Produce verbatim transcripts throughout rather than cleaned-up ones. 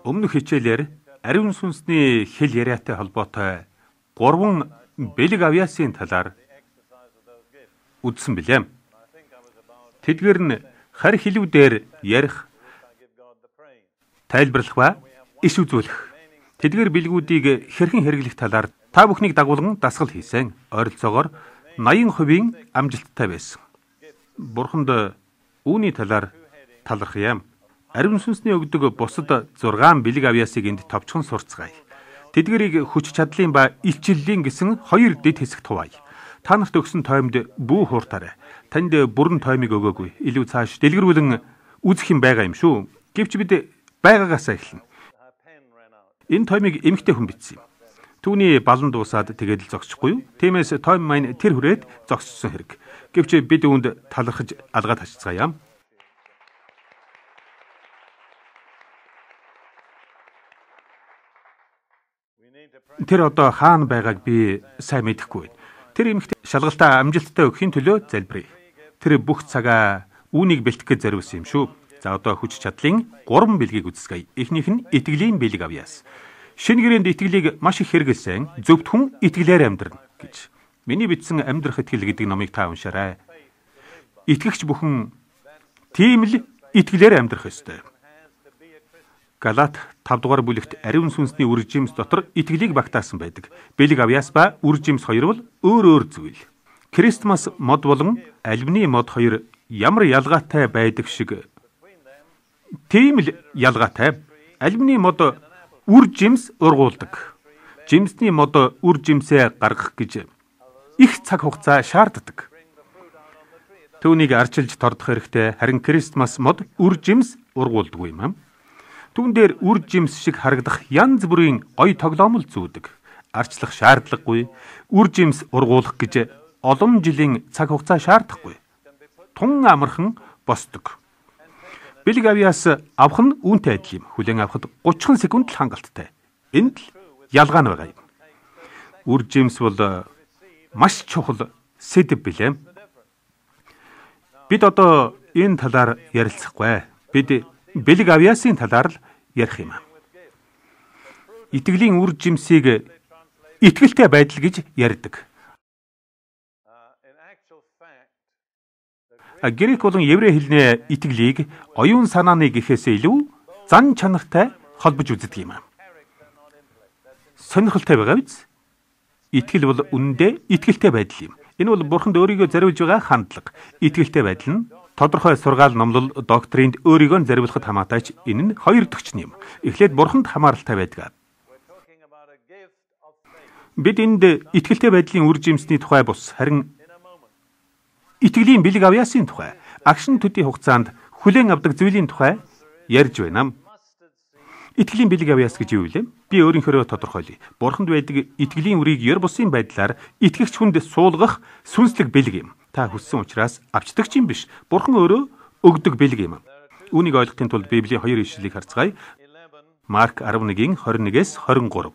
Өмнөх хичээлээр ариун сүнсний хэл яриатай холбоотой гурван бэлэг авьяасын талаар үзсэн билээ. Тэдгээр нь харь хэлүүдээр ярих, тайлбарлах ба иш үзүүлэх. Тэдгээр бэлгүүдийг хэрхэн хэрэглэх талаар та бүхнийг дагуулan дасгал хийсэн. Ойролцоогоор наян хувийн амжилттай байсан. Бурханд үүний талаар талархъя. Ариун сүнсний өгдөг бусад зургаан бэлэг авьяасыг энд товчхон сурцгаая. Тэдгэрийг хүч чадлын ба илчиллийн гэсэн хоёр дэд хэсэгт хуваая. Та нарт өгсөн тоймд бүү хууртаарай. Танд бүрэн тоймыг өгөөгүй. Илүү цааш дэлгэрүүлэн үзэх юм байгаа юм шүү. Гэвч бид байгаагаасаа эхэлнэ. Энэ тоймыг эмэгтэй хүн бичсэн юм. Түүний балан дуусаад тэгээд л зогсчихгүй юу? Тиймээс тойм маань тэр хүрээд зогссон хэрэг. Гэвч бид үүнд талархаж алгаад хачцгаая. Тэр одоо хаана байгааг би сайн мэдэхгүй байна. Тэр эмэгтэй шалгалтаа амжилттай өгөхийн төлөө залбирая. Тэр бүх цагаа үүнийг бэлтгэх гэж зориулсан юм шүү. За одоо хүч чадлын гурван бэлгийг үзсгэе. Эхнийх нь итгэлийн бэлэг авьяас. Шинэ гэрээнд итгэлийг маш их хэрэгэлсэн зөвхт хүн итгэлээр амьдрна гэж. Миний бичсэн амьдрах итгэл гэдэг номыг та уншаарай. Итгэгч бүхэн тийм л итгэлээр амьдрах ёстой. Галат тавд дугаар бүлэгт ариун сүнсний үр жимс дотор итгэлийг багтаасан байдаг. Бэлэг авьяас ба үр жимс хоёр бол өөр өөр зүйл. Крисмас мод болон альбны мод хоёр ямар ялгаатай байдаг шиг тийм л ялгаатай. Альбны мод үр жимс ургуулдаг. Жимсний мод үр жимсээ гаргах гэж их цаг хугацаа шаарддаг. Түүнийг арчилж тордох хэрэгтэй. Харин крисмас мод үр жимс ургуулдаггүй юм. Түүн дээр үр жимс шиг харагдах янз бүрийн гоё тоглоомл зүүдэг. Арчлах шаардлагагүй. Үр жимс ургуулах гэж олон жилийн цаг хугацаа шаардахгүй. Тун амархан босдог. Бэлэг авьяас авах нь үүнтэй адил юм. Хүлээн авахд гучин секунд л хангалттай. Энд л ялгаа нь байгаа юм. Үр жимс бол маш чухал сэдэв билээ. Бид одоо энэ талаар ярилцахгүй. Бид бэлэг авьяасын талаар л ярих юм. Итгэлийн үр жимсийг итгэлтэй байдал гэж ярьдаг. Грек болон еврей хэлний итгэлийг оюун санааны гэхээс илүү зан чанартай холбож үздэг юм. Сонирхолтой байгаа биз? Итгэл бол үнэндээ итгэлтэй байдал юм. Энэ бол Бурханд өөрийгөө зориулж байгаа хандлага. Итгэлтэй байдал нь тодорхой сургаал номлол доктринд өөрийгөө зориулахад хамаатай ч энэ нь хоёр төгчн юм. Эхлээд Бурханд хамааралтай байдаг. Бид энд итгэлтэй байдлын үр жимсний тухай бус харин итгэлийн бэлэг авьяасын тухай, агшин төдий хугацаанд хүлээн авдаг зүйлийн тухай ярьж байна. Итгэлийн бэлэг авьяас гэж юу вэ? Би өөрийнхөө тодорхойлъя. Бурханд байдаг итгэлийн үрийг ёр бусын байдлаар итгэгч хүнд суулгах сүнслэг бэлэг юм. Та хүссэн учраас авчдаг ч юм биш. Бурхан өөрөө өгдөг бэлэг юм. Үүнийг ойлгохын тулд Библийн хоёр ишлэлийг харцгаая. Марк арван нэгin хорин нэгээс хорин гурав.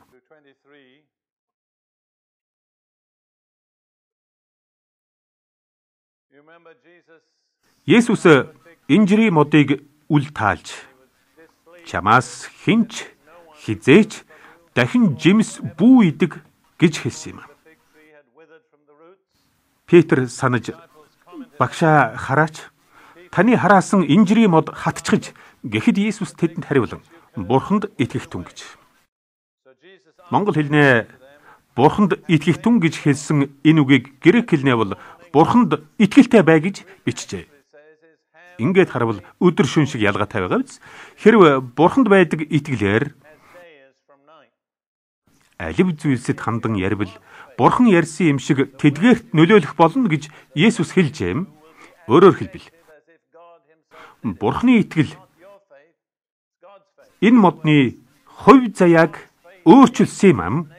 Есүс инжирийн модыг үл таалж чамаас хинч хизээч дахин жимс бүү идэг гэж хэлсэн юм. Петр санаж багшаа хараач таны хараасан инжирийн мод хатчихж гэхэд Есүс тэдэнд хариулан Бурханд итгэх түн гэж. Монгол хэлнээ Бурханд итгэх түн гэж хэлсэн энэ үгийг грек хэлнээ бол Бурханд итгэлтэй бай гэж бичжээ. Ингээд харвал өдөр шөнө шиг ялгаатай байгаа биз? Хэрвээ Бурханд байдаг итгэлээр алив зүйлсэд хандан ярил Бурхан ярьсан юм шиг тэдгээрт нөлөөлөх болно гэж Есүс хэлжээ. Өөрөөр хэлбэл Бурханы итгэл энэ модны хувь заяаг өөрчилсөн юм.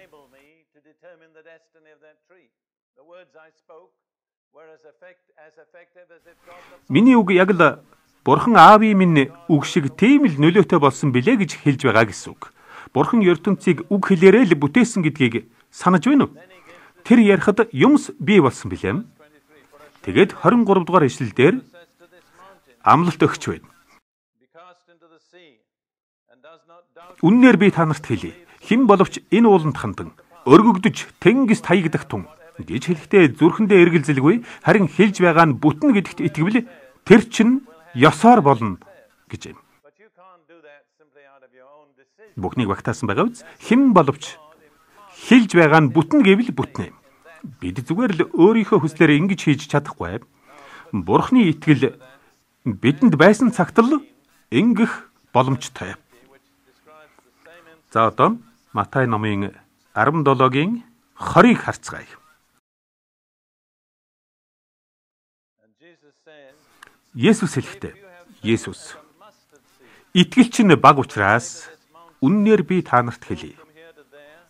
Миний үг яг л Бурхан аавын минь үг шиг тийм л нөлөөтэй болсон билээ гэж хэлж байгаа гэсэн үг. Бурхан ертөнцийг үг хэлээрээ л бүтээсэн гэдгийг санаж байна уу? Тэр ярихад юмс бий болсон билээ. Тэгээд хорин гурав дугаар ишлэл дээр амлалт өгч байна. Үннээр би та нарт хэлье. Хэн боловч энэ ууланд хандан өргөгдөж тэнгис таягдах тун гэж хэлэхдээ зүрхэндээ эргэлзэлгүй, харин хэлж байгаа нь бүтэн гэдэгт итгэвэл тэр чинь ёсоор болно гэж юм. Бүхнийг багтаасан байгаа биз? Хэн боловч хэлж байгаа нь бүтэн гэвэл бүтнэ. Бид зүгээр л өөрийнхөө хүслээр ингэж хийж чадахгүй. Бурхны итгэл бидэнд байсан цагт л ингэх боломжтой. За одоо Матай номын арван долоогийн хорийг харцгаая. Есүс хэлэхдээ, Есүс итгэл чинь баг учраас үннээр би та нарт хэлье.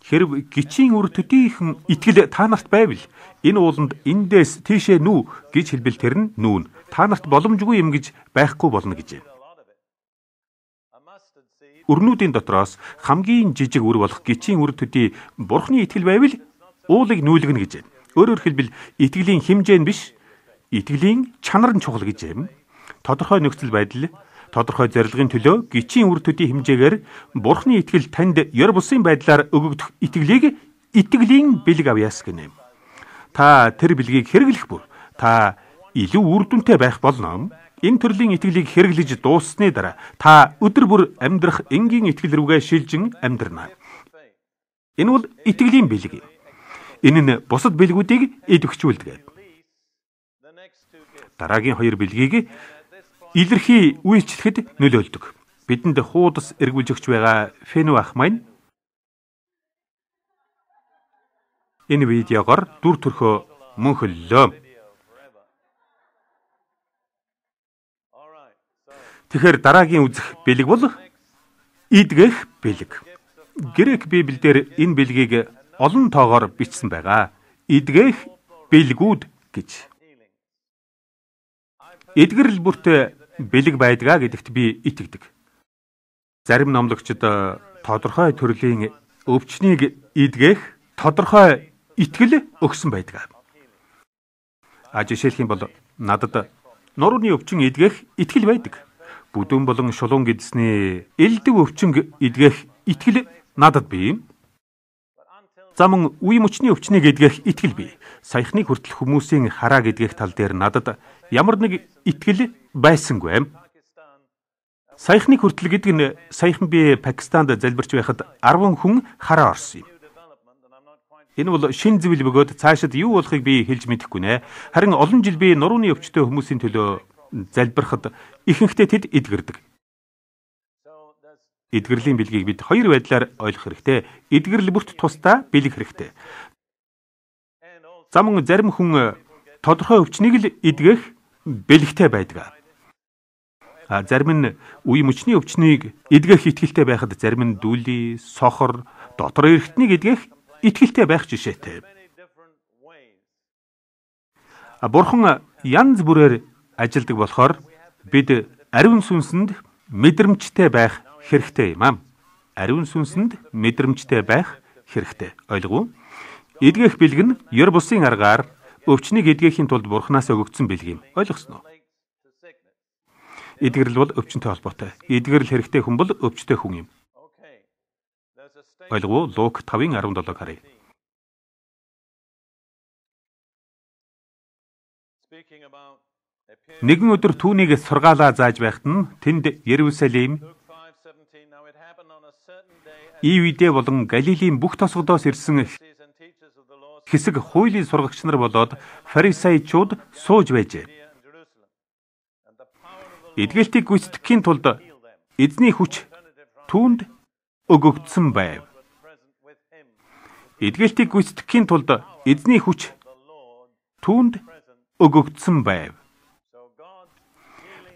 Хэрв гичийн үр төдийхөн итгэл та нарт байвал энэ ууланд эндээс тийшээ нүү гэж хэлбэл тэр нь нүүн. Та нарт боломжгүй юм гэж байхгүй болно гэж. Өрнүүдийн дотроос хамгийн жижиг үр болох гичийн үр төдий Бурхны итгэл байвал уулыг нүүлгэнэ гэж. Өөрөөр хэлбэл итгэлийн хэмжээ нь биш, итгэлийн чанар нь чухал гэж юм. Тодорхой нөхцөл байдал, тодорхой зорилгын төлөө гичийн үр төдий хэмжээгээр Бурхны итгэл танд ёр бусын байдлаар өгөгдөх итгэлийг итгэлийн бэлэг авьяас гэнэ. Та тэр бэлгийг хэрэглэх бүр та илүү үр дүнтэй байх болно. Энэ төрлийн итгэлийг хэрэглэж дууссаны дараа та өдөр бүр амьдрах энгийн итгэл рүүгээ шилжин амьдрнаа. Энэ бол итгэлийн бэлэг. Энэ нь бусад бэлгүүдийг идэвхжүүлдэг. Дараагийн хоёр бэлгийг илэрхий үйлчлэхэд нөлөөлдөг. Бидэнд хуудас эргүүлж өгч байгаа Фэну ах маань энэ видеогоор дүр төрхөө мөнхөллөө. Тэгэхээр дараагийн үзэх бэлэг бол идгэх бэлэг. Грек Библиэлд энэ бэлгийг олон тоогоор бичсэн байгаа. Идгэх бэлгүүд гэж. Эдгэрэл бүртээ бэлэг байдгаа гэдэгт би итгэдэг. Зарим номлогчид тодорхой төрлийн өвчнийг идгэх тодорхой итгэл өгсөн байдаг. А жишээлх юм бол надад нурууны өвчин идгэх итгэл байдаг. Бүдүүн болон шулуун гэдсний элдв өвчин идгэх итгэл надад бий. Замун үе мөчний өвчнийг идгэх итгэл бий. Саяхныг хүртэл хүмүүсийн хараа гэдгэх тал дээр надад ямар нэг итгэл байсангүй. Саяхныг хүртэл гэдэг нь саяхан би Пакистанд залбирч байхад арван хүн хараа орсон юм. Энэ бол шин зөвл бөгөөд цаашид юу болохыг би хэлж мэдэхгүй нэ. Харин олон жил би нурууны өвчтөй хүмүүсийн төлөө залбирахад ихэнхдээ тэд эдгэрдэг. Эдгэрлийн бэлгийг бид хоёр байдлаар ойлгох хэрэгтэй. Эдгэрэл бүрт тусдаа бэлэг хэрэгтэй. Замун зарим хүн тодорхой өвчнийг л эдгэх бэлэгтэй байдаг. А зарим нь үе мөчний өвчнийг эдгэх итгэлтэй байхад зарим нь дүүли, сохор, дотор эрхтнийг эдгэх итгэлтэй байх жишээтэй. А бурхан янз бүрээр ажилдаг болохоор бид ариун сүнсэнд мэдрэмжтэй байх хэрэгтэй юм аа. Ариун сүнсэнд мэдрэмжтэй байх хэрэгтэй. Ойлгов уу? Эдгэх бэлэг нь ёр бусын аргаар өвчнийг эдгэхийн тулд бурханаас өгөгдсөн бэлэг юм. Ойлгосноо? Эдгэрэл бол өвчнөд холбоотой. Эдгэрэл хэрэгтэй хүн бол өвчтэй хүн юм. Ойлгов уу? Лук тавын арван долоог харъя. Нэгэн өдөр түүнийг сургаалаа зааж байхад нь тэнд Ерүсалим, Ивидэ болон Галилийн бүх тосгодоос ирсэн хэсэг хуулийн сургагч нар болоод фарисеучуд сууж байжээ. Эдгэлтийг гүйцэтгэхийн тулд эзний хүч түүнд өгөгдсөн байв. Эдгэлтийг гүйцэтгэхийн тулд эзний хүч түүнд өгөгдсөн байв.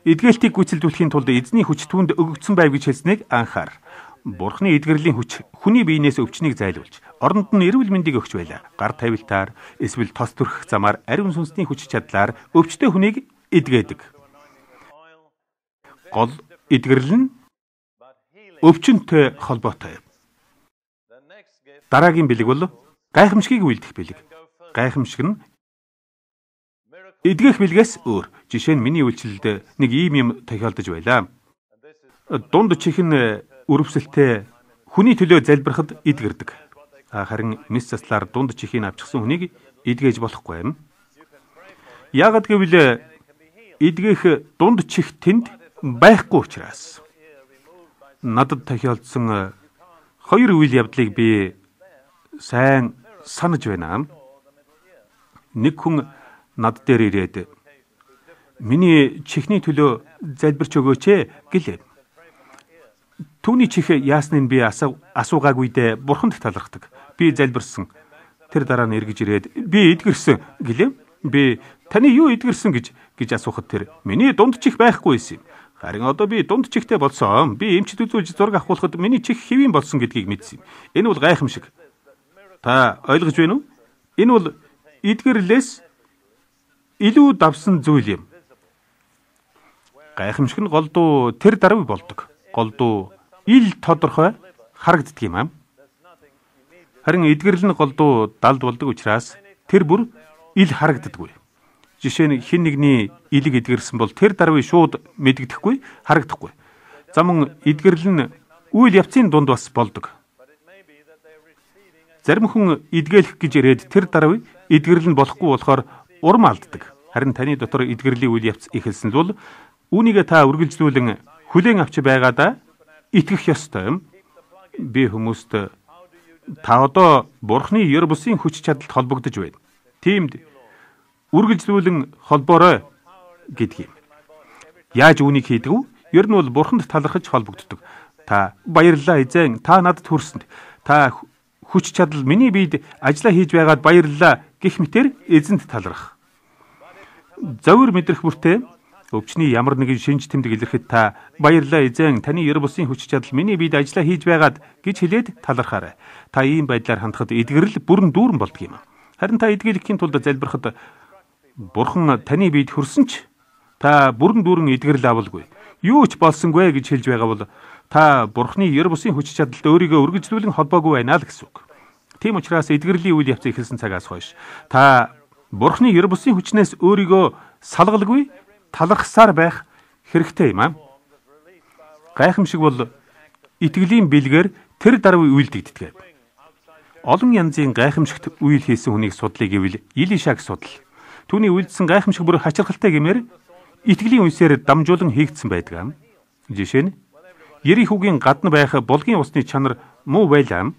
Эдгэлтийг гүйцэлдүүлэхийн тулд эзний хүч түүнд өгөгдсөн байв гэж хэлснийг анхаар. Бурхны эдгэрлийн хүч хүний биенээс өвчнийг зайлуулж, оронд нь эрүүл мэндийг өгч байлаа. Гар тавилтаар, эсвэл тос төрөх замаар ариун сүнсний хүч чадлаар өвчтэй хүнийг эдгээдэг. Гол эдгэрэл нь өвчнөд холбоотой. Дараагийн бэлэг бол гайхамшигыг үйлдэх бэлэг. Гайхамшиг нь эдгэх бэлгээс өөр. Жишээ нь миний үйлчлэлд нэг ийм юм тохиолдож байлаа. Дунд чихэн өрөвсөлтөө хүний төлөө залбирахад эдгэрдэг. Харин мэс заслаар дунд чихийг авчихсан хүнийг эдгэж болохгүй юм. Яагад гэвэл эдгэх дунд чих тэнд байхгүй учраас. Надад тохиолдсон хоёр үйл явдлыг би сайн санаж байна. Нэг хүн над дээр ирээд миний чихний төлөө залбирч өгөөч гэлээ. Түүний чих яасныг би асуугаагүйдээ бурханд талархдаг. Би залбирсан. Тэр дараа нь эргэж ирээд би эдгэрсэн гэлээ. Би таны юу эдгэрсэн гэж гэж асуухад тэр миний дунд чих байхгүй байсан юм. Харин одоо би дунд чихтэй болсон. Би эмчд үзүүлж зураг авахулахад миний чих хэвийн болсон гэдгийг мэдсэн юм. Энэ бол гайхамшиг. Та ойлгож байна уу? Энэ бол эдгэрлээс илүү давсан зүйл юм. Гайхамшиг нь голдуу тэр даруй болдог. Голдуу ил тодорхой харагддаг юм аа. Харин эдгэрл нь голдуу далд болдог учраас тэр бүр ил харагддаггүй. Жишээ нь хэн нэгний илэг эдгэрсэн бол тэр даруй шууд мэдэгдэхгүй, харагдахгүй. Замун эдгэрл нь үйл явцын дунд бас болдог. Зарим хүн эдгээлэх гэж ирээд тэр даруй эдгэрл нь болохгүй болохоор урам алддаг. Харин таны дотор эдгэрлийн үйл явц ихэлсэн бол үүнийг та үргэлжлүүлэн хүлээн авч байгаадаа итгэх ёстой юм. Би хүмүүст та одоо Бурхны ёр бусын хүч чадалд холбогдож байна. Тиймд үргэлжлүүлэн холбоорой гэдэг юм. Яаж үүнийг хийдэг вэ? Ер нь бол Бурханд талархаж холбогддог. Та баярлалаа эзэн, та надад хүрсэнд. Та хүч чадал миний биед ажиллаа хийж байгаад баярлалаа гэх мэтэр эзэнд талархах. Зөвөр мэдрэх бүртээ өвчний ямар нэгэн шинж тэмдэг илэрхэд та баярлалаа эзэн, таны ёр бусын хүч чадал миний биед ажиллаа хийж байгаад гэж хэлээд талархаарай. Та ийм байдлаар хандхад эдгэрэл бүрэн дүүрэн болдог юм. Харин та эдгээлэхийн тулд залбирахад Бурхан таны биед хүрсэн ч та бүрэн дүүрэн эдгэрэл авалгүй. Юу ч болсонгүй гэж хэлж байгаа бол та Бурханы ёр бусын хүч чадалд өөрийгөө үргэлжлүүлэн холбоогүй байна л гэсэн үг. Тийм учраас эдгэрлийн үйл явц эхэлсэн цагаас хойш та Бурханы ёр бусын хүчнээс өөрийгөө салгалгүй талархсаар байх хэрэгтэй юм аа. Гайхамшиг бол итгэлийн бэлгээр тэр даруй үйлдэгддэг. Олон янзын гайхамшигт үйл хийсэн хүнийг судлыг гэвэл Илишаг судал. Түүний үйлдсэн гайхамшиг бүр хачирхалтай гэмээр итгэлийн үсээр дамжуулан хийгдсэн байдаг. Жишээ нь Ерихүүгийн гадна байх булгийн усны чанар муу байлаа.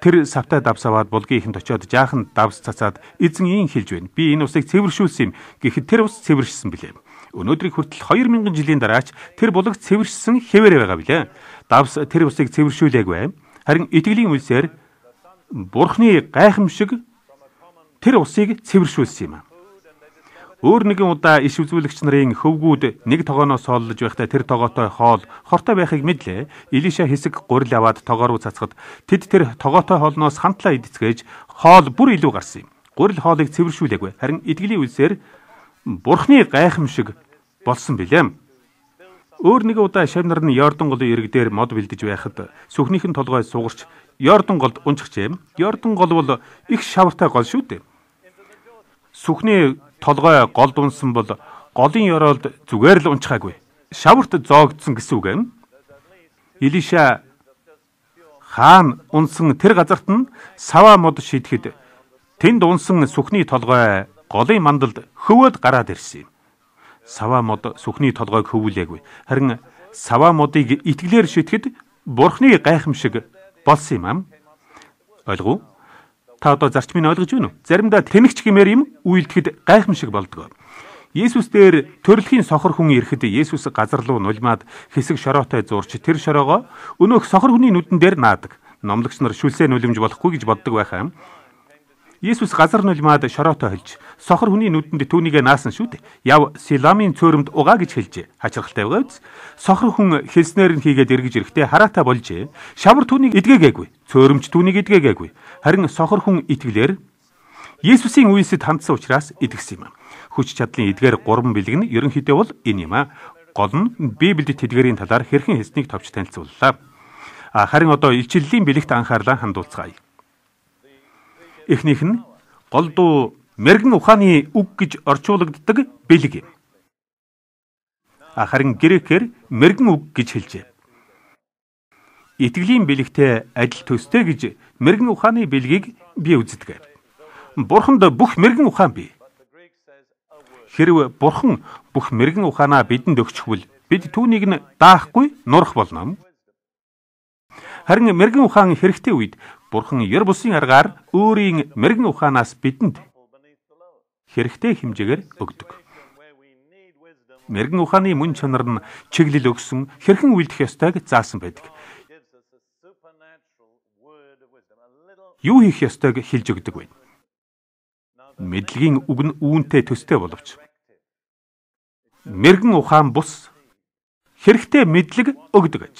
Тэр савтай давсаваад булгийн ихэнд очиод жаахан давс цацаад эзэн ийн хэлж байна. Би энэ усыг цэвэршүүлсэн юм. Гэхэд тэр ус цэвэршсэн билээ. Өнөөдрийг хүртэл хоёр мянган жилийн дараач тэр булаг цэвэршсэн хэвээр байгаа билээ. Давс тэр усыг цэвэршүүлээгүй. Харин итгэлийн үлсээр Бурхны гайхамшиг тэр усыг цэвэршүүлсэн юм. Өөр нэгэн удаа иш үзүүлэгч нарын хөвгүүд нэг тогооноос хооллож байхдаа тэр тогоотой хоол хортой байхыг мэдлээ. Илиша хэсэг гурил аваад тогоо руу цацхад тэд тэр тогоотой хоолноос хамтлаа идцгээж хоол бүр илүү гарсан юм. Гурил хоолыг цэвэршүүлээгүй. Харин итгэлийн үлсээр Бурхны гайхамшиг болсон билээ. Өөр нэгэн удаа шавнар нь Йордан голын ирэг дээр мод бэлдэж байхад сүхнийхэн толгой сугарч Йордан голд унчихжээ. Йордан гол бол их шавартай гол шүү дээ. Сүхний толгой голд унсан бол голын ёроолд зүгээр л унчхаагүй. Шаварт зоогдсон гэсэн үг юм. Илиша хаан унсан тэр газарт нь саваа мод шидэхэд тэнд унсан сүхний толгой голын мандалд хөвөөд гараад ирсэн юм. Саваа мод сүхний толгойг хөвүүлээгүй. Харин саваа модыг итгэлээр шидэхэд Бурхны гайхамшиг болсон юм аа. Ойлгов? Та одоо зарчмыг ойлгож байна уу? Заримдаа тэнэгч гэмээр юм үйлдэхэд гайхамшиг болдог. Есүс дээр төрөлхийн сохор хүн ирэхэд Есүс газар руу нулимаад хэсэг шороотой зурч тэр шороогоо өнөөх сохор хүний нүдэн дээр наадаг. Номлогч нар шүлсээ нулимж болохгүй гэж боддог байхаа. Есүс газар нулимаад шороотой хөлж сохор хүний нүдэнд түүнийгээ наасан шүү дээ. Яв Силамын цөөрөмд угаа гэж хэлжээ. Хачирхалтай байгаа биз? Сохор хүн хэлснээр нь хийгээд эргэж ирэхдээ хараатай болжээ. Шавар түүнийг эдгээгээгүй. Цөөрөмч түүнийг эдгээгээгүй. Харин сохор хүн итгэлээр Есүсийн үеэсэд хандсан учраас эдгэсэн юм. Хүч чадлын эдгээр гурван бэлэг нь ерөнхийдөө бол энэ юм аа. Гол нь Библиэд тэдгэрийн талаар хэрхэн хэлснийг товч танилцууллаа. А харин одоо илчиллийн бэлэгт анхаарлаа хандуулцгаая. Эхнийх нь голдуу мэргэн ухааны үг гэж орчуулагддаг бэлэг юм. А харин грекээр мэргэн үг гэж хэлжээ. итгэлийн бэлэгтэй адил төстэй гэж мэрэгэн ухааны бэлгийг би үздэг. Бурханд бүх мэрэгэн ухаан бий. Хэрв Бурхан бүх мэрэгэн ухаанаа бидэнд өгчихвөл бид түүнийг нь даахгүй нурах болно. Харин мэрэгэн ухаан хэрэгтэй үед Бурхан ёр бусын аргаар өөрийн мэрэгэн ухаанаас бидэнд хэрэгтэй хэмжээгээр өгдөг. Мэрэгэн ухааны мөн чанар нь чиглэл өгсөн хэрхэн үйлдэх ёстойг заасан байдаг. Юу хийх ёстойг хэлж өгдөг вэ? Мэдлэгийн үг нь үүнтэй төстэй боловч мэрэгэн ухаан бус хэрэгтэй мэдлэг өгдөг аж.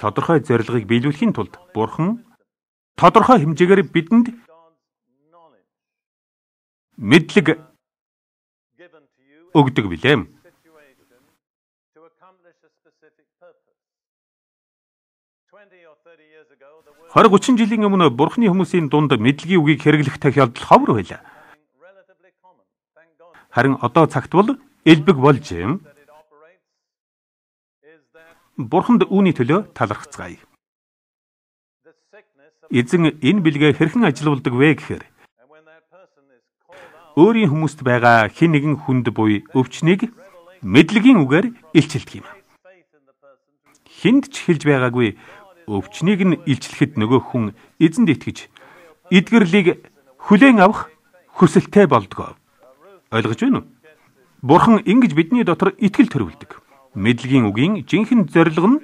Тодорхой зорилгыг биелүүлэхийн тулд Бурхан тодорхой хэмжээгээр бидэнд мэдлэг өгдөг билээ. хорь гучин жилийн өмнө Бурханы хүмүүсийн дунд мэдлэгийн үгийг хэрэглэх тохиолдол ховор байлаа. Харин одоо цагт бол элбэг болж юм. Бурханд үүний төлөө талархацгаая. Эзэн энэ бэлгээ хэрхэн ажилуулдаг вэ гэхээр өөрийн хүмүүст байгаа хэн нэгэн хүнд буй өвчнийг мэдлэгийн үгээр илчилдэг юм. Хүнд ч хэлж байгаагүй өвчнийг нь илчлэхэд нөгөө хүн эзэнд итгэж эдгэрлийг хүлээн авах хүсэлтэй болдог. Ойлгож байна уу? Бурхан ингэж бидний дотор итгэл төрүүлдэг. Мэдлэгийн үгийн жинхэнэ зорилго нь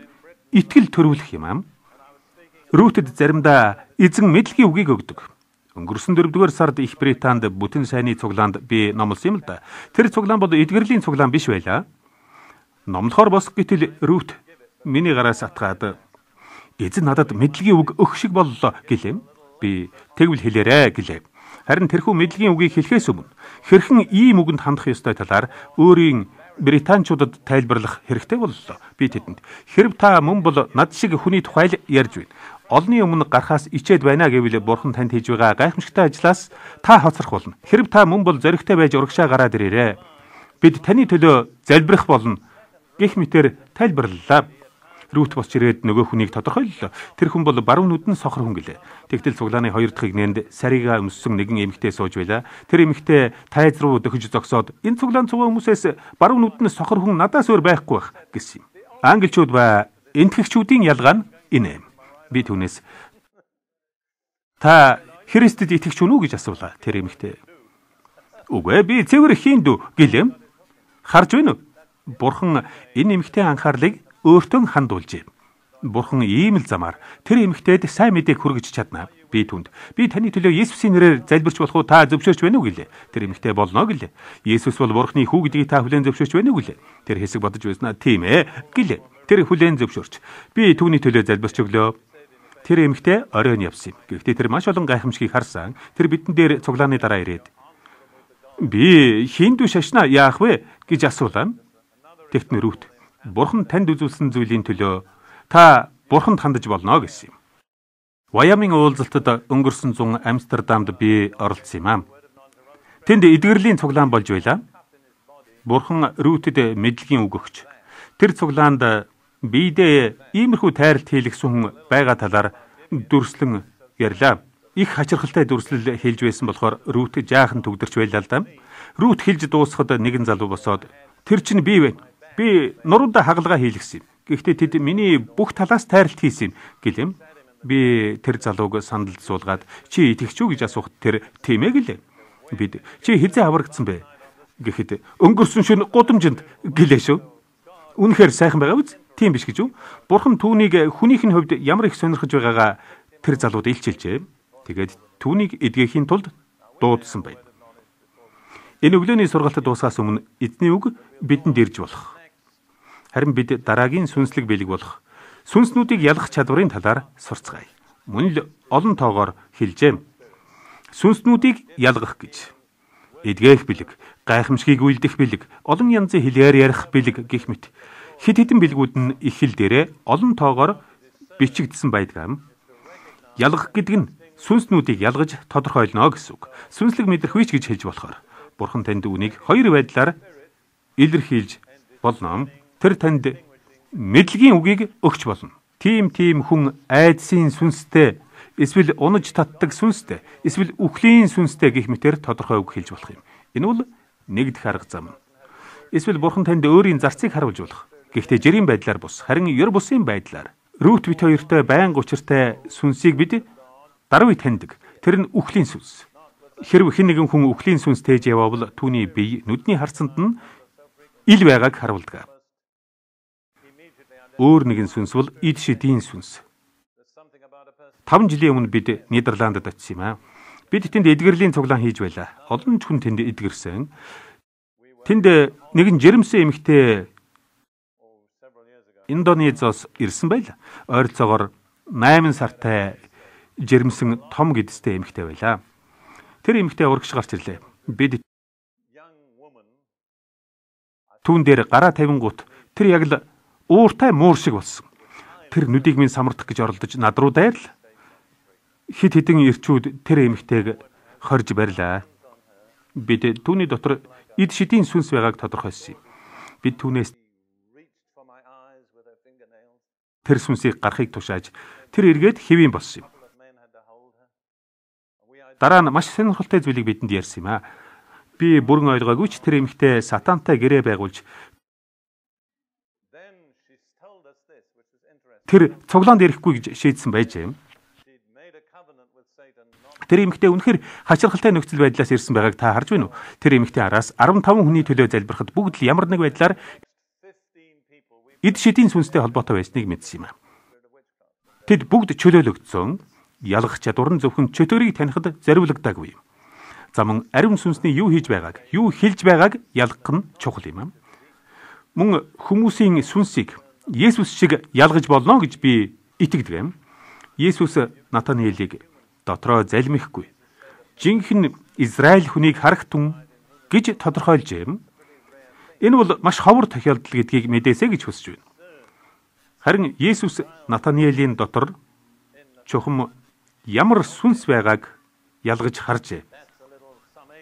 итгэл төрүүлэх юм аа. Рүүтэд заримдаа эзэн мэдлэгийн үгийг өгдөг. Өнгөрсөн дөрөвдүгээр сард Их Британд бүтэн сайнны цуглаанд би номлосон юм л да. Тэр цуглаан бол эдгэрлийн цуглаан биш байлаа. Номлохоор босох гэтэл Рүүт миний гараас атгаад эзэн надад мэдлэгийн үг өгөх шиг боллоо гэлээ. Би тэгвэл хэлээрэ гэлээ. Харин тэрхүү мэдлэгийн үгийг хэлэхээс өмнө хэрхэн ийм үгэнд хандах ёстой талаар өөрийн британчуудад тайлбарлах хэрэгтэй боллоо. Би тэдэнд хэрв та мөн бол над шиг хүний тухай л ярьж байна. Олны өмнө гарахаас ичээд байна гэвэл Бурхан танд хийж байгаа гайхамшигтай ажлаас та хоцрох болно. Хэрв та мөн бол зоригтой байж урагшаа гараад ирээрэй. Бид таны төлөө залбирах болно гэх мэтээр тайлбарлалаа. Рүүт босч ирээд нөгөө хүнийг тодорхойллоо. Тэр хүн бол баруун нүдэн сохор хүн гэлээ. Тэгтэл цуглааны хоёр дахь игнэнд сарига өмссөн нэгэн эмэгтэй сууж байла. Тэр эмэгтэй тайз руу дөхөж зогсоод энэ цуглаан цугаа хүмүүсээс баруун нүдэн сохор хүн надаас өөр байхгүй байх гэсэн юм. Англичууд ба энтгэгчүүдийн ялгаа нь энэ. Би түүнээс та Христэд итгэж үнэ үү гэж асуулаа. Тэр эмэгтэй үгүй би цэвэр хиндүү гэлэм. Харж байна уу? Бурхан энэ эмэгтэй анхаарлыг өөртөө хандуулжээ. Бурхан ийм л замаар тэр эмэгтэйд сайн мэдээг хүргэж чадна. Би түнд би таны төлөө Есүсийн нэрээр залбирч болох уу та зөвшөөрч байна уу гэлээ. Тэр эмэгтэй болно гэлээ. Есүс бол Бурханы хүү гэдгийг та хүлээн зөвшөөрч байна уу гэлээ. Тэр хэсэг бодож байснаа тийм ээ гэлээ. Тэр хүлээн зөвшөөрч би түүний төлөө залбирч өглөө. Тэр эмэгтэй оройн явсан юм. Гэхдээ тэр маш олон гайхамшигыг харсан. Тэр бидэн дээр цуглааны дараа ирээд би хиндүү шашна яах вэ гэж асуулаа. Тэгтэн Рүүт Бурхан танд үзүүлсэн зүйлийн төлөө та Бурханд хандаж болно гэсэн юм. Вайоминг уулзалтад өнгөрсөн зун Амстердамд би оролцсон юм аа. Тэнд эдгэрлийн цуглаан болж байла. Бурхан Рүүтэд мэдлэгийн үг өгч тэр цуглаанд биедээ иймэрхүү тайралт хийлгсэн хүн байгаа талаар дүрслэн ярьлаа. Их хачирхалтай дүрслэл хэлж байсан болохоор Рүүт жаахан төгдөрч байлаа л да. Рүүт хэлж дуусахад нэгэн залуу босоод тэр чинь би вэ? Би нуруундаа хагалгаа хийлгсэн юм. Гэхдээ тэд миний бүх талаас тайралт хийсэн юм гэлэм. Би тэр залууг сандалд суулгаад чи итгэж үү гэж асуухад тэр тийм ээ гэлээ. Бид чи хизээ аврагдсан бэ гэхэд өнгөрсөн шөнө гудамжинд гэлээ шүү. Үнэхээр сайхан байгаа биз? Тийм биш гэж үү? Бурхан түүнийг хүнийхний хувьд ямар их сонирхож байгаагаа тэр залууд илчилжээ. Тэгээд түүнийг эдгэхийн тулд дуудсан байна. Энэ өглөөний сургаалт дуусахаас өмнө эзний үг бидэнд ирж болох. Харин бид дараагийн сүнслэг бэлэг болох сүнснүүдийг ялгах чадварын талаар сурцгаая. Мөн л олон тоогоор хэлжээ. Сүнснүүдийг ялгах гэж эдгэх бэлэг, гайхамшигыг үйлдэх бэлэг, олон янзын хэлээр ярих бэлэг гэх мэт хэд хэдэн бэлгүүд нь их хэл дээрээ олон тоогоор бичигдсэн байдаг юм. Ялгах гэдэг нь сүнснүүдийг ялгаж тодорхойлно гэсэн үг. Сүнслэг мэдрэх үйч гэж хэлж болохоор Бурхан танд үнийг хоёр байдлаар илэрхийлж болно. Тэр танд мэдлэгийн үгийг өгч болно. Тим тим хүн айдсын сүнстэй, эсвэл унаж татдаг сүнстэй, эсвэл үхлийн сүнстэй гэх мэтээр тодорхой үг хэлж болох юм. Энэ бол нэгдэх арга зам. Эсвэл бурхан танд өөрийн зарцыг харуулж болох. Гэхдээ жирийн байдлаар бус, харин ёр бусын байдлаар. Рут бит хоёртой байн учиртай сүнсийг бид даруй таньдаг. Тэр нь үхлийн сүнс. Хэрв хэн нэгэн хүн үхлийн сүнс тээж явбал түүний бие нүдний харцанд нь ил байгааг харуулдаг. Өөр нэгэн сүнс бол эд шидийн сүнс. таван жилийн өмнө бид Нидерландд очив юм аа. Бид тэнд эдгэрлийн цуглаан хийж байлаа. Олон ч хүн тэнд эдгэрсэн. Тэнд нэгэн жирэмсэн эмэгтэй Индонезиос ирсэн байлаа. Ойролцоогоор найман сартай жирэмсэн том гэдэстэй эмэгтэй байлаа. Тэр эмэгтэй урагш гарч ирлээ. Бид түүн дээр гараа тавингуут тэр яг л ууртай муур шиг болсон. Тэр нүдийг минь самардах гэж оролдож над руу дайрал. Хит хитэн ирчүүд тэр эмэгтэйг хорж барьлаа. Бид түүний дотор эд шидийн сүнс байгааг тодорхойлсон юм. Бид түүнээс тэр сүнсийг гарахыг тушааж тэр эргээд хэвийн болсон юм. Дараа нь маш сонирхолтой зүйлийг бидэнд ярьсан юм аа. Би бүрэн ойлгоогүй ч тэр эмэгтэй сатантай гэрээ байгуулж тэр цуглаанд ирэхгүй гэж шийдсэн байж юм. Тэр эмэгтэй үнэхээр хачирхалтай нөхцөл байдлаас ирсэн байгааг та харж байна уу? Тэр эмэгтэй араас арван таван хүний төлөө залбирахад бүгд л ямар нэг байдлаар эд шидийн сүнстэй холбоотой байсныг мэдсэн юм аа. Тэд бүгд чөлөөлөгдсөн. Ялгах чадвар нь зөвхөн чөтгөрийг танихад зориулагдаагүй юм. За мөн ариун сүнсний юу хийж байгааг, юу хэлж байгааг ялгах нь чухал юм. Мөн хүмүүсийн сүнсийг Есүс шиг ялгаж болно гэж би итгэдэг юм. Есүс Натаниэлийг дотроо залмихгүй. Жинхэнэ Израиль хүнийг харах түн гэж тодорхойлж юм. Энэ бол маш ховор тохиолдол гэдгийг мэдээсэй гэж хүсэж байна. Харин Есүс Натаниэлийн дотор чухам ямар сүнс байгааг ялгаж харжээ.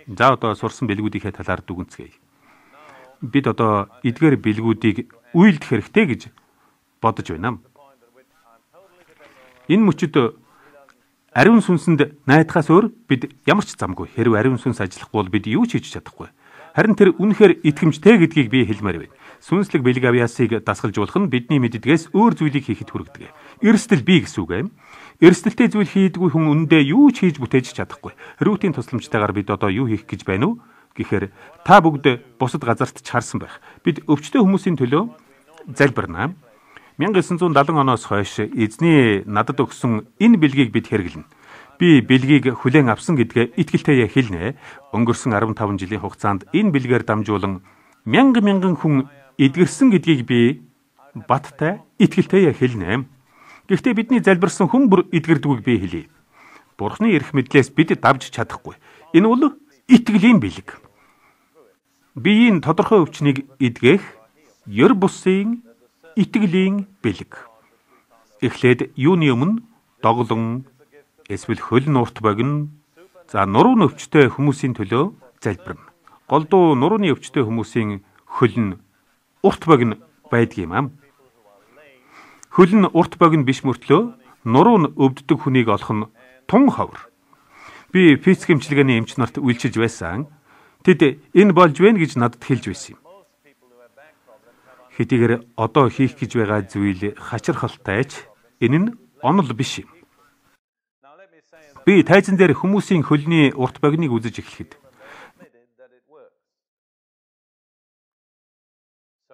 За одоо сурсан бэлгүүдийнхээ талаар дүгнцгээе. Бид одоо эдгээр бэлгүүдийг үйлдэх хэрэгтэй гэж бодож байна. Энэ мөчөд ариун сүнсэнд найдахаас өөр бид ямар ч замгүй. Хэрв ариун сүнс ажиллахгүй бол бид юу ч хийж чадахгүй. Харин тэр үнэхээр итгэмжтэй гэдгийг би хэлмээр байна. Сүнслэг бэлэг авьяасыг дасгалжуулах нь бидний мэддгээс өөр зүйлийг хийхэд хүргэдэг. Эрсдэл бий гэсэн үг юм. Эрсдэлтэй зүйл хийдгүй хүн үндэ юу ч хийж бүтээж чадахгүй. Рутийн тусламжтайгаар бид одоо юу хийх гэж байна уу? Гэхээр та бүгд бусад газарт ч харсан байх. Бид өвчтөе хүмүүсийн төлөө залбирнаа. 천구 седемдесет оноос хойш эзний надад өгсөн энэ бэлгийг бид хэрэглэнэ. Би бэлгийг хүлээн авсан гэдгээ итгэлтэйе хэлнэ. Өнгөрсөн арван таван жилийн хугацаанд энэ бэлгээр дамжуулан мянган мянган хүн эдгэрсэн гэдгийг би баттай итгэлтэйе хэлнэ. Гэхдээ бидний залбирсан хүн бүр эдгэрдэггүй би хэлье. Бурхны эрх мэдлээс бид давж чадахгүй. Энэ бол итгэлийн бэлэг. Биеийн тодорхой өвчнийг эдгэх ёр бусын итгэлийн бэлэг. Эхлээд юуны өмнө доглон эсвэл хөл нурт богино. За нуруу өвчтөе хүмүүсийн төлөө залбирна. Голдуу нурууны өвчтөе хүмүүсийн хөл нь урт богино байдаг юм аа. Хөл нь урт богино биш мөртлөө нуруу нь өвддөг хүнийг олох нь тун ховор. Би физик эмчилгээний эмч нарт үйлчилж байсан. Тэд энэ болж байна гэж надад хэлж байсан юм. Хэдийгээр одоо хийх гэж байгаа зүйл хачирхалтайч энэ нь онол биш юм. Би тайзан дээр хүмүүсийн хөлний урт богиныг үзэж эхлэхэд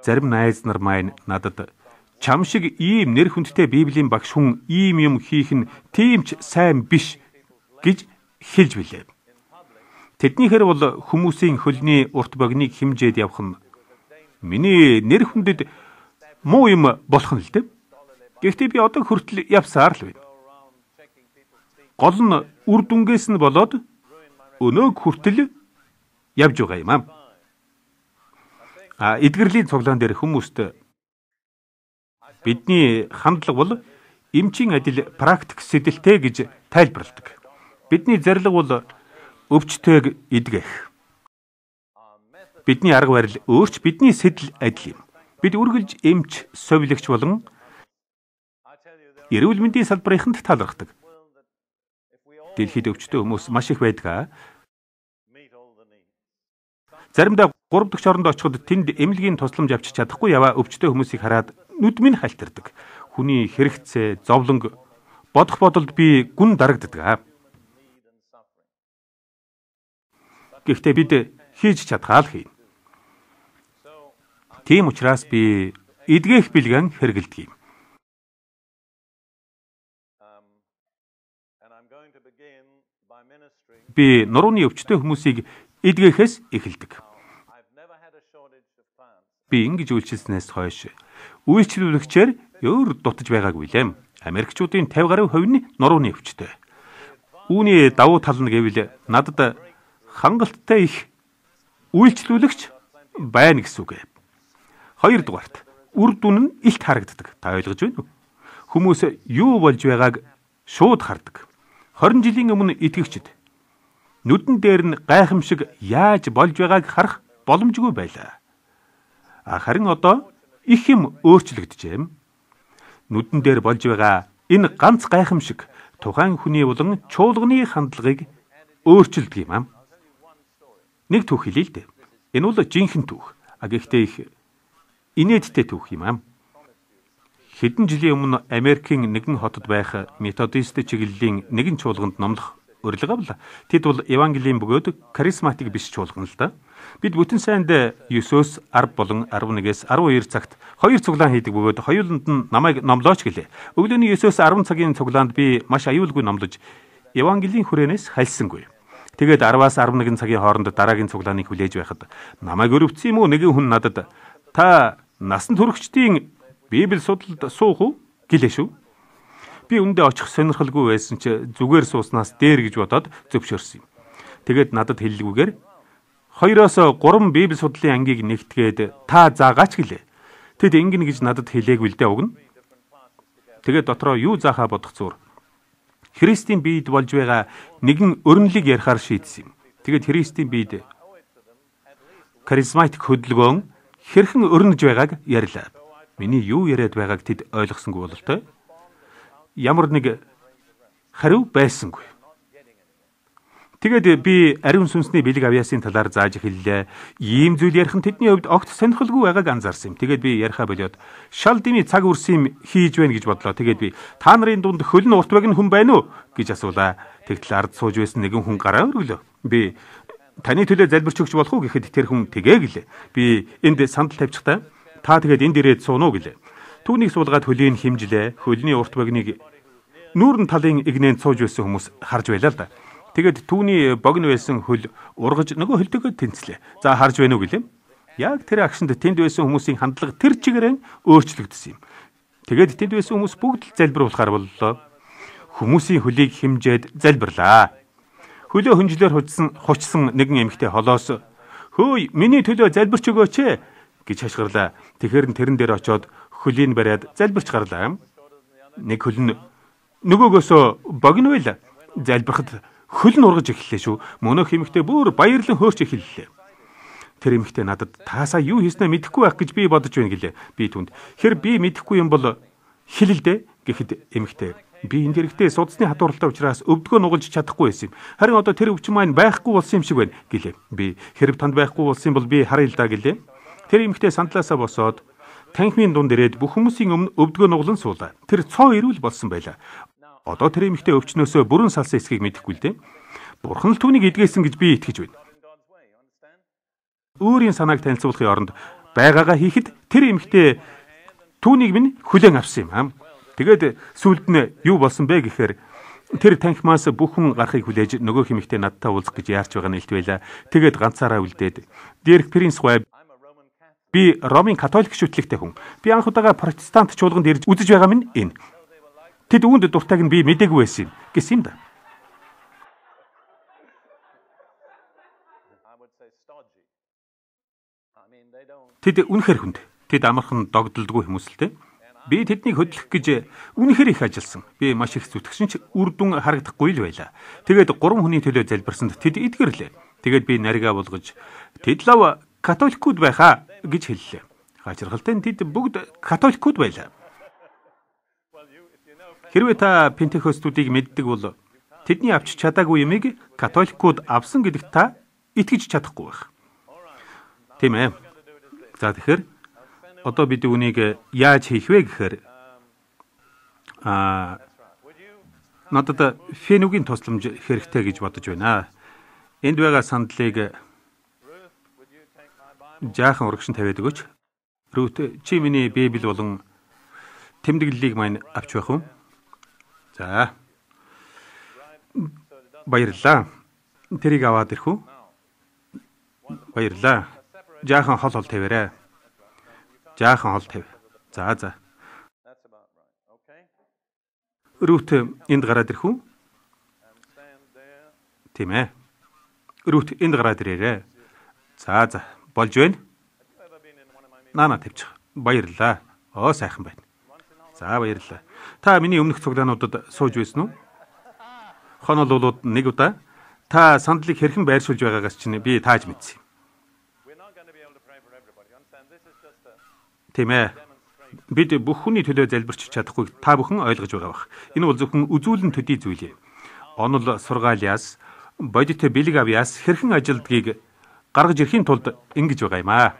зарим найз нар маань надад чам шиг ийм нэр хүндтэй Библийн багш хүн ийм юм хийх нь тийм ч сайн биш гэж хэлж билээ. Тэднийхэр бол хүмүүсийн хөлний урт богиныг хэмжээд явах нь миний нэр хүндэд муу юм болох нь л дээ. Гэхдээ би одоо хүртэл явсаар л байна. Гол нь үр дүнгээс нь болоод өнөөг хүртэл явж байгаа юм аа. А эдгэрлийн цуглаан дээр хүмүүст бидний хандлага бол эмчийн адил практик сэдэлтэй гэж тайлбарладаг. Бидний зорилго бол өвчтөйг эдгэх. Бидний арга барил өөрч бидний сэдэл адил юм. Бид үргэлж эмч, совилагч болон эрүүл мэндийн салбарынханд талархдаг. Дэлхийд өвчтөе хүмүүс маш их байдаг. Заримдаа гурав дахь оронд очиход тэнд эмнэлгийн тусламж авчиж чадахгүй яваа өвчтөе хүмүүсийг хараад нүд минь халтардаг. Хүний хэрэгцээ, зовлонг бодох бодолд би гүн дарагддаг. Гэхдээ бид хийж чадхаа л хийнэ. Тийм учраас би эдгэх бэлгэн хэрэгэлдэг юм. Би нурууны өвчтөе хүмүүсийг эдгэхээс эхэлдэг. Би ингэж үйлчилснээс хойш үйлчлүүлэгчээр өөр дутаж байгаагүй лээ. Америкчуудын пचास гаруй хувь нь нурууны өвчтөе. Үүний давуу тал нь гэвэл надад хангалттай их үйлчлүүлэгч байна гэсэн үг. Хоёрдугаарт үр дүн нь илт харагддаг. Та ойлгож байна уу? Хүмүүс юу болж байгааг шууд хардаг. хорин жилийн өмнө итгэгчид нүдэн дээр нь гайхамшиг яаж болж байгааг харах боломжгүй байлаа. Харин одоо их юм өөрчлөгдөжээ. Нүдэн дээр болж байгаа энэ ганц гайхамшиг тухайн хүний болон чуулганы хандлагыг өөрчилдөг юм аа. Нэг түүх хэлээ л дээ. Энэ бол жинхэнэ түүх. А гэхдээ их инээдтэй түүх юм аа. Хэдэн жилийн өмнө Америкийн нэгэн хотод байх методист чиглэлийн нэгэн чуулганд номлох урилга авлаа. Тэд бол евангелийн бөгөөд харизматик биш чуулган л да. Бид бүтэн сайнд Есүс арав болон арав нэгээс арав хоёр цагт хоёр цуглаан хийдэг бөгөөд хоёуланд нь намайг номлооч гэлээ. Өглөөний Есүс арав цагийн цуглаанд би маш аюулгүй номлож евангелийн хүрээнээс хальсангүй. Тэгээд араваас арав нэгэн цагийн хооронд дараагийн цуглааныг хүлээж байхад намайг өрөвцсөн юм уу нэгэн хүн надад та насан туршидчдын Библи судалд суух уу гэлээ шүү. Би үндэ очих сонирхолгүй байсан ч зүгээр сууснаас дээр гэж бодоод зөвшөөрсөн юм. Тэгээд надад хэллэгүйгээр хоёроос гурван Библи судлалын ангийг нэгтгээд та заагаач гэлээ. Тэд ингэн гэж надад хэлээгүй л дээ уг нь. Тэгээд дотроо юу заахаа бодох зур. Христийн биед болж байгаа нэгэн өрнөлийг ярихаар шийдсэн юм. Тэгээд Христийн биед харизматик хөдөлгөөн хэрхэн өрнөж байгааг ярьлаа. Миний юу яриад байгааг тэд ойлгосонгүй бололтой. Ямар нэг хариу байсангүй. Тэгээд би ариун сүнсний бэлэг авьяасын талаар зааж хэллээ. Ийм зүйл ярих нь тэдний хувьд огт сонирхолгүй байгааг анзаарсан юм. Тэгээд би яриахаа болоод шал дими цаг үрсэн хийж байна гэж бодлоо. Тэгээд би та нарын дунд хөлн урт багны хүн байна уу гэж асуулаа. Тэгтэл ард сууж байсан нэгэн хүн гараа өргөлөө. Би таны төлөө залбирч өгч болох уу гэхэд тэр хүн тэгээ гэлээ. Би энд сандал тавьчихтаа та тэгээд энд ирээд суун уу гэлээ. Түүнийг суулгаад хөлийг химжлээ. Хөлний урт багныг нүүрэн талын игнэнд сууж байсан хүмүүс харж байлаа л да. Тэгээд түүний богино байсан хөл ургаж нөгөө хөлтөгөө тэнцлээ. За харж байна уу гэлээ. Яг тэр агшинд тэнд байсан хүмүүсийн хандлага тэр чигээрээ өөрчлөгдсөн юм. Тэгээд тэнд байсан хүмүүс бүгд л залбируулахаар боллоо. Хүмүүсийн хөлийг химжээд залбирлаа. Хөлөө хөнжлөөр хучсан хучсан нэгэн эмэгтэй холоос "Хөөе, миний төлөө залбирч өгөөч ээ" гэж хашгирлаа. Тэгэхэр нь тэрэн дээр очиод хөлийг бариад залбирч гарлаа. Нэг хөл нь нөгөөгөөсөө богино байла. Залбирахад хөл нь ургаж эхэллээ шүү. Мөнөх эмэгтэй бүр баярлан хөөрч эхэллээ. Тэр эмэгтэй надад таасаа юу хийснээ мэдэхгүй байх гэж би бодож байна гэлээ. Би түнд "Хэр би мэдэхгүй юм бол хэлэлдэ" гэхэд эмэгтэй "Би энэ дэрэгтээ судасны хатууралтай учраас өвдгөө нугалж чадахгүй байсан юм. Харин одоо тэр өвчин маань байхгүй болсон юм шиг байна" гэлээ. Би "Хэрэг танд байхгүй болсон юм бол би харъя л да" гэлээ. Тэр эмэгтэй сандлаасаа босоод танхимын дунд ирээд бүх хүмүүсийн өмнө өвдгөө нуглан суулаа. Тэр цоо ирүүл болсон байлаа. Одоо тэр эмэгтэй өвчнөөсөө бүрэн салсан эсхийг мэдэхгүй л дээ. Бурхан л түүнийг эдгээсэн гэж би итгэж байна. Өөрийн санааг танилцуулахын оронд байгаагаа хийхэд тэр эмэгтэй түүнийг минь хүлээн авсан юм аа. Тэгээд сүүлд нь юу болсон бэ гэхээр тэр танхимаас бүх хүн гарахыг хүлээж нөгөө эмэгтэй надтай уулзах гэж яарч байгаа нь илт байлаа. Тэгээд ганцаараа үлдээд "Дэрх принц гой би Ромын католик шүтлэгтэй хүн. Би анх удаага протестант чуулганд ирж үзэж байгаа минь энэ. Тэд үүнд дуртайг нь би мэдээгүй байсан юм" гэсэн юм да. Тэд үнэхэр хүнд. Тэд амархан догдолдгүй хүмүүсэлтэй. Би тэднийг хөдлөх гэж үнэхэр их ажилласан. Би маш их зүтгэсэн ч үр дүн харагдахгүй л байлаа. Тэгээд гурван хүний төлөө залбирсанд тэд эдгэрлээ. Тэгээд би наригаа болгож "Тэд лав католикуд байхаа" гэж хэллээ. Гажиргалтай нь тэд бүгд католикууд байлаа. Хэрвээ та пентекостуудыг мэддэг бол тэдний авч чадаагүй юмыг католикууд авсан гэдэгт та итгэж чадахгүй байх. Тийм ээ. За тэгэхээр одоо бид үүнийг яаж хийх вэ гэхээр аа надад фенугийн тусламж хэрэгтэй гэж бодож байна. Энд байгаа сандлыг жаахан урагшин тавиад өгөөч. Рут чи миний Библи болон тэмдэглэлийг маань авч байх уу? За. Баярлалаа. Тэрийг аваад ирэх үү? Баярлалаа. Жаахан хол хол тавиарай. Жаахан хол тавь. За за. Рут энд гараад ирэх үү? Тийм ээ. Рут энд гараад ирээрэй. За за. Болж байна. Наана тавьчих. Баярлалаа. Оо сайхан байна. За баярлалаа. Та миний өмнөх цуглаануудад сууж байсан уу? Хонол болоод нэг удаа та сандлыг хэрхэн байршуулж байгаагаас чинь би тааж мэдсэн. Тийм ээ. Бид бүх хүний төлөө залбирч чадахгүй та бүхэн ойлгож байгаа бах. Энэ бол зөвхөн үзүүлэн төдий зүйл юм. Онол сургаалиас, бодит бэлэг авьяас хэрхэн ажилдгийг гаргаж ирэхийн тулд ингэж байгаа юм аа.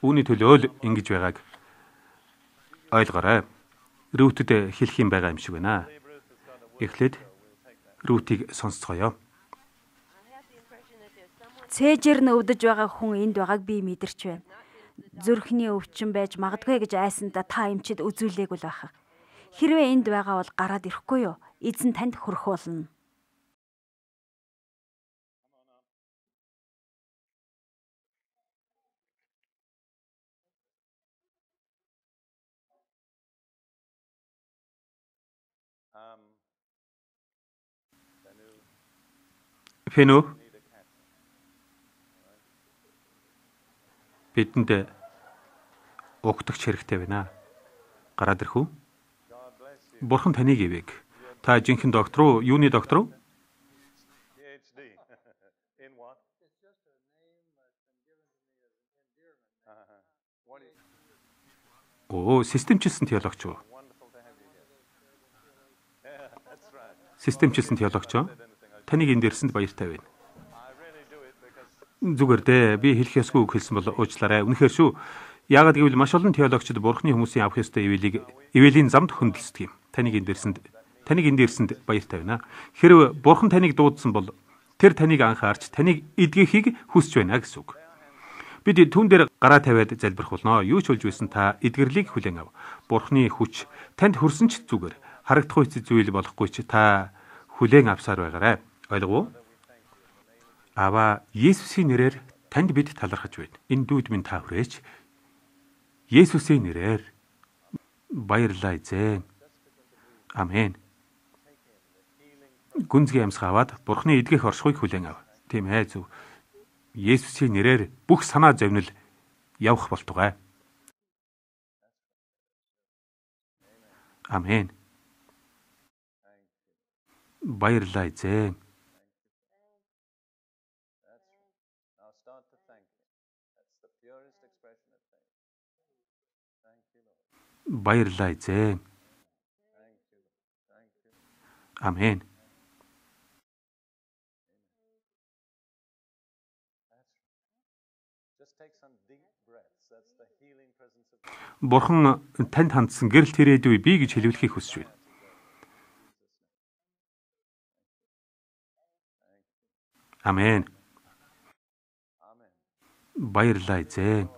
Үүний төлөө л ингэж байгааг ойлгоорой. Рүүтэд хэлэх юм байгаа юм шиг байна. Эхлээд Рүтийг сонсцгоё. Цээжээр нь өвдөж байгаа хүн энд байгааг би мэдэрч байна. Зүрхний өвчин байж магадгүй гэж айсандаа та эмчид үзүүлээгүй л байх. Хэрвээ энд байгаа бол гараад ирэхгүй юу? Эзэн танд хүрэх болно. Фэнү бидэнд угтагч хэрэгтэй байна. Гараад ирэх үү? Бурхан таныг ивэг. Та жинхэнэ доктор уу? Юуны доктор уу? Оо, системчилсэн теологч уу? Системчилсэн теологч уу? Таныг энд ирсэнд баяртай байна. Зүгээр дээ. Би хэлэх ёсгүй үг хэлсэн бол уучлаарай. Үнэхээр шүү. Яагаад гэвэл маш олон теологчид бурхны хүмүүсийн авах ёстой ивэлийг ивэлийн замд хөндлөсдөг юм. Таныг энд ирсэнд таныг энд ирсэнд баяртай байна. Хэрв бурхан таныг дуудсан бол тэр таныг анхаарч таныг эдгэхийг хүсэж байна гэсэн үг. Бид түн дээр гараа тавиад залбирх болно. Юу ч болж байсан та эдгэрлийг хүлээн ав. Бурхны хүч танд хүрсэн ч зүгээр. Харагдахгүй зүйл болохгүй ч та хүлээн авсаар байгаарай. Ойлгов уу? Ава Есүсийн нэрээр танд бид талархаж байна. Энэ дүүд минь та хүрээч. Есүсийн нэрээр баярлалаа эзэн. Амен. Гүнзгий амьсгаа аваад Бурхны эдгэх оршихуйг хүлээн ав. Тийм ээ зөв. Есүсийн нэрээр бүх санаа зовнил явах болтугай. Амен. Баярлалаа эзэн. Баярлалаа эзэн. Амен. Бурхан танд хандсан гэрэл тэрээдүй би гэж хэлүүлэхийг хүсэж байна. Амен. Баярлалаа эзэн.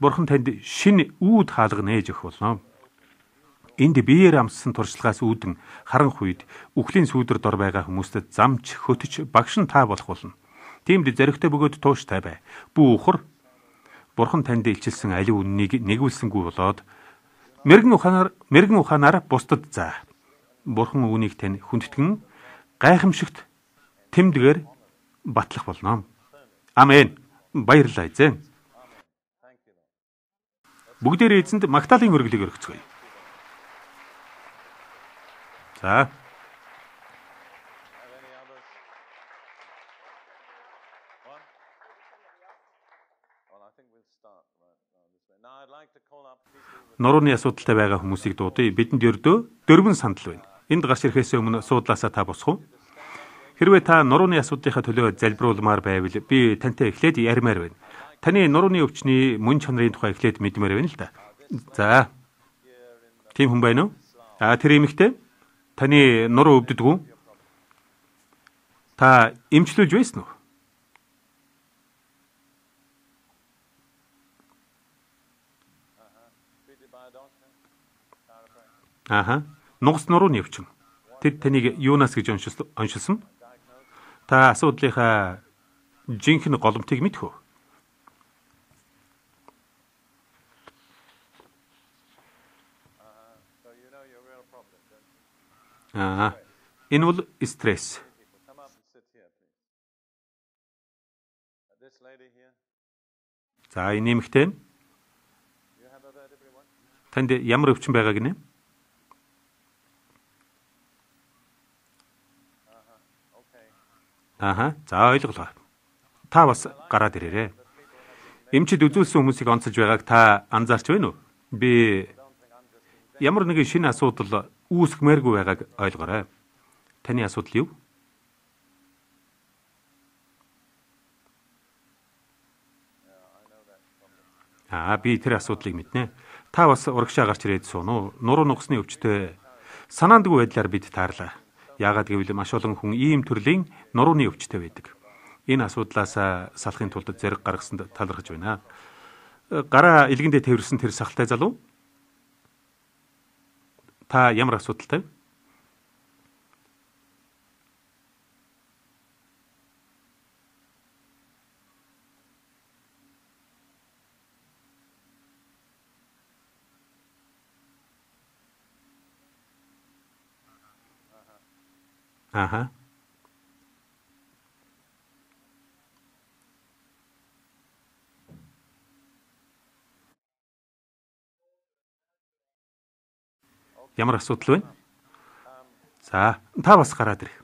Бурхан танд шинэ үүд хаалга нээж өгөх болно. Энд биеэр амссан туршлагаас үүдэн харанх үед үхлийн сүүдэр дор байгаа хүмүүстэд замч, хөтөч, багш нь та болох болно. Тиймд зоригтой бөгөөд тууштай бай. Бүү ухар. Бурхан танд илчилсэн аливаа үннийг нэгүүлсэнгүй болоод мэрэгэн ухаанаар мэрэгэн ухаанаар бусдад заа. Бурхан үүнийг тань хүндэтгэн гайхамшигт тэмдгээр батлах болно. Амен. Баярлалаа эзэн. Бүгдээрээ эзэнд Магдалины өргөлийг өргөцгөөе. За. Нурууны асуудалтай байгаа хүмүүсийг дуудъя. Бидэнд ердөө дөрвөн сандал байна. Энд гарч ирэхээс өмнө суудлаасаа та босох уу? Хэрвээ та нурууны асуудлынхаа төлөө залбируулмаар байвал би тантай эхлээд ярмаар байна. Таны нурууны өвчний мөн чанарын тухай эхлээд мэдмээр байна л да. За. Тийм хүн байна уу? А тэр эмэгтэй? Таны нуруу өвддөг үү? Та эмчлүүлж байсан уу? Аха. Нугас нурууны өвчин. Тэд таныг юунаас гэж оншилсон? Та асуудлынхаа жинхэнэ голомтыг мэдэх үү? Аа. Энэ бол стресс. За, энэ нэмэгтэй. Танд ямар өвчин байгаа гинэ? Аха. За, ойлголоо. Та бас гараад ирээрэй. Эмчид үзүүлсэн хүмүүсийг онцолж байгааг та анзаарч байна уу? Би ямар нэгэн шинэ асуудал үүсгмээргүй байгааг ойлгоорой. Таны асуудал юу? Аа, би тэр асуудлыг мэднэ. Та бас урагшаа гарч ирээд суун уу? Нуруу нугасны өвчтөй санаандгүй байдлаар бид таарлаа. Яагаад гэвэл маш олон хүн ийм төрлийн нурууны өвчтөй байдаг. Энэ асуудлаас салахын тулд зэрэг гаргасанд талархаж байна. Гараа илгэндээ тэрсэн тэр сахалтай залуу. Та ямар асуудалтай? Аха. Ямар асуудал вэ? За, та бас гараад ирэх.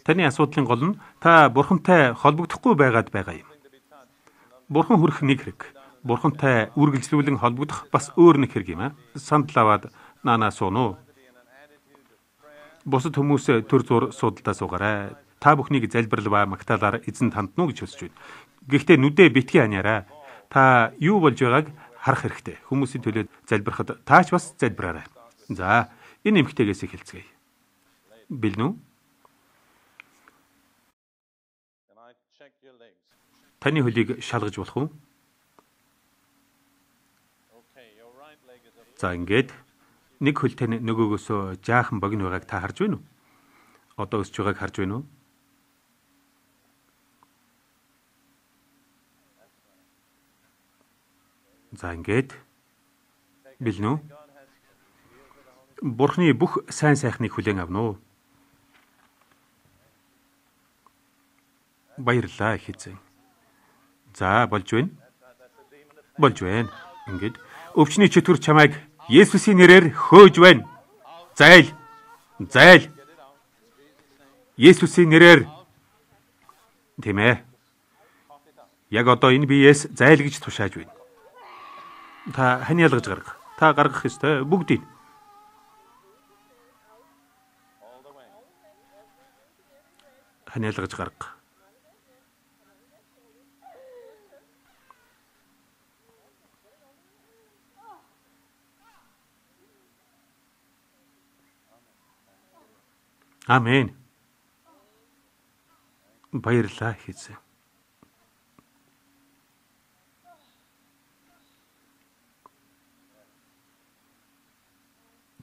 Таны асуудлын гол нь та бурхантай холбогдохгүй байгаад байгаа юм. Бурхан хүрэх нэг хэрэг. Бурхантай үргэлжлүүлэн холбогдох бас өөр нэг хэрэг юм аа. Сандал аваад наанаа суун уу? Бусад хүмүүс төр зур судалдаа суугаарай. Та бүхнийг залбирал ба магтаалаар эзэн тандна уу гэж хүсэж байна. Гэхдээ нүдээ битгий ханиараа. Та юу болж байгааг харах хэрэгтэй. Хүмүүсийн төлөө залбирахад таач бас залбираарай. За, энэ эмэгтэйгээс эхэлцгээе. Бэлнү? Таны хөлийг шалгаж болох уу? За, ингээд нэг хөл тань нөгөөгөөсөө жаахан богино байгааг та харж байна уу? Одоо өсч байгааг харж байна уу? За, ингээд бэлнү? Бурхны бүх сайн сайхныг хүлээн авна уу? Баярлалаа их эзэн. За, болж байна. Болж байна. Ингээд өвчний чөтгөр чамайг Есүсийн нэрээр хөөж байна. Зайл. Зайл. Есүсийн нэрээр. Тийм ээ. Яг одоо энэ биеэс зайл гэж тушааж байна. Та хань ялгаж гарга. Та гаргах ёстой бүгдийг. Хань ялгаж гарга. Амен. Баярлалаа эзэн.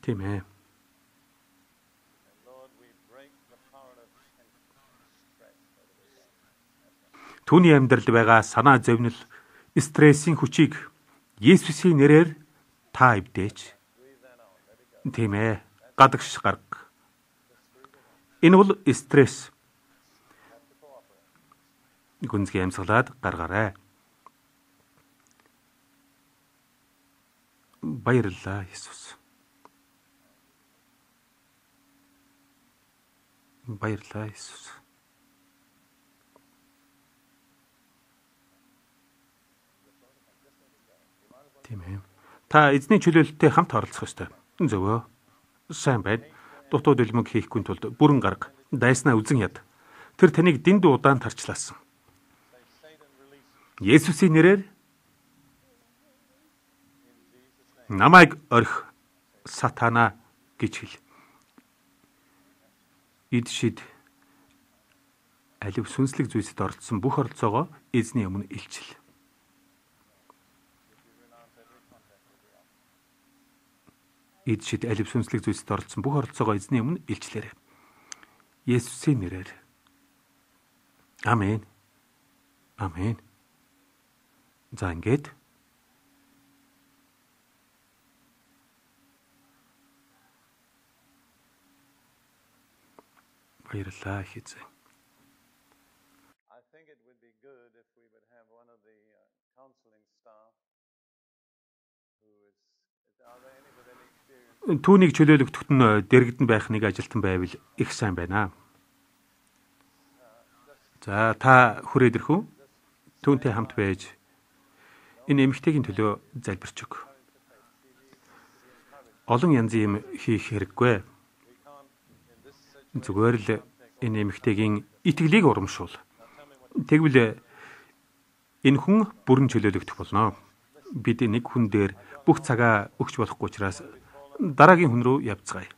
Тийм ээ. Түүний амьдралд байгаа санаа зовнил, стрессийн хүчийг Есүсийн нэрээр та эвдээч. Тийм ээ. Гадагш гарга. Энэ бол стресс. Гүнзгий амьсгалаад гаргаарай. Баярлалаа Есүс. Баярлалаа Есүс. Тийм ээ. Та эзний чөлөөлөлтөд хамт оролцох ёстой. Зөвөө. Сайн байна. Дутуу дэлмэг хийхгүй тулд бүрэн гарга, дайснаа үзен яд. Тэр таныг дэндүү удаан тарчлаасан. Есүсийн нэрээр намайг орхи сатана гэж хэл. Эд шид алив сүнслэг зүйлсэд оролцсон бүх оролцоогоо эзний өмнө илчил. Эд шид алив сүнслэг зүйлсэд оролцсон бүх оролцоогоо эзний өмнө илчлээрэй. Есүсийн нэрээр. Амен. Амен. За ингээд баярлалаа хийцээ. Түүнийг чөлөөлөгдөхт нь дэрэгдэн байх нэг ажилтан байвал их сайн байна. За та хүрээд ирэх үү? Түүнтэй хамт байж энэ эмэгтэйгийн төлөө залбирч өг. Олон янзын юм хийх хэрэггүй. Зүгээр л энэ эмэгтэйгийн итгэлийг урамшуул. Тэгвэл энэ хүн бүрэн чөлөөлөгдөх болно. Бид нэг хүн дээр бүх цагаа өгч болохгүй учраас дараагийн хүн рүү явцгаая.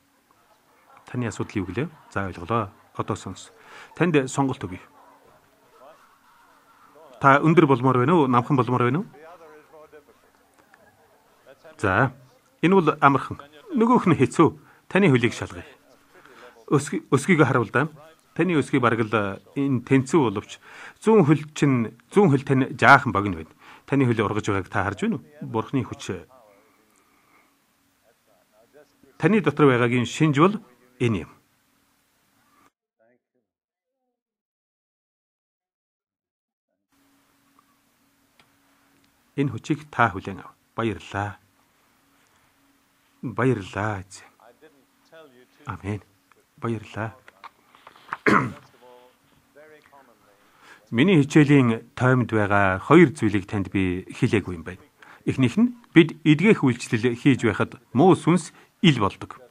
Таны асуудал юу гэлээ? За ойлголоо. Одоо сонс. Танд сонголт өгье. Та өндөр болмоор байна уу? Намхан болмоор байна уу? За, энэ бол амархан. Нөгөөх нь хэцүү. Таны хөлийг шалгая. Өсгий өсгийг харуул да. Таны өсгий бараг л энэ тэнцүү боловч зүүн хөл чинь зүүн хөл тань жаахан богино байна. Таны хөл ургаж байгааг та харж байна уу? Бурхны хүч таны дотор байгаагийн шинж бол энэ юм. Энэ хүчийг та хүлээн ав. Баярлалаа. Баярлалаа. Амен. Баярлалаа. Миний хичээлийн тоймд байгаа хоёр зүйлийг танд би хэлээгүй юм байна. Эхнийх нь бид эдгэх үйлчлэл хийж байхад муу сүнс ил болдог.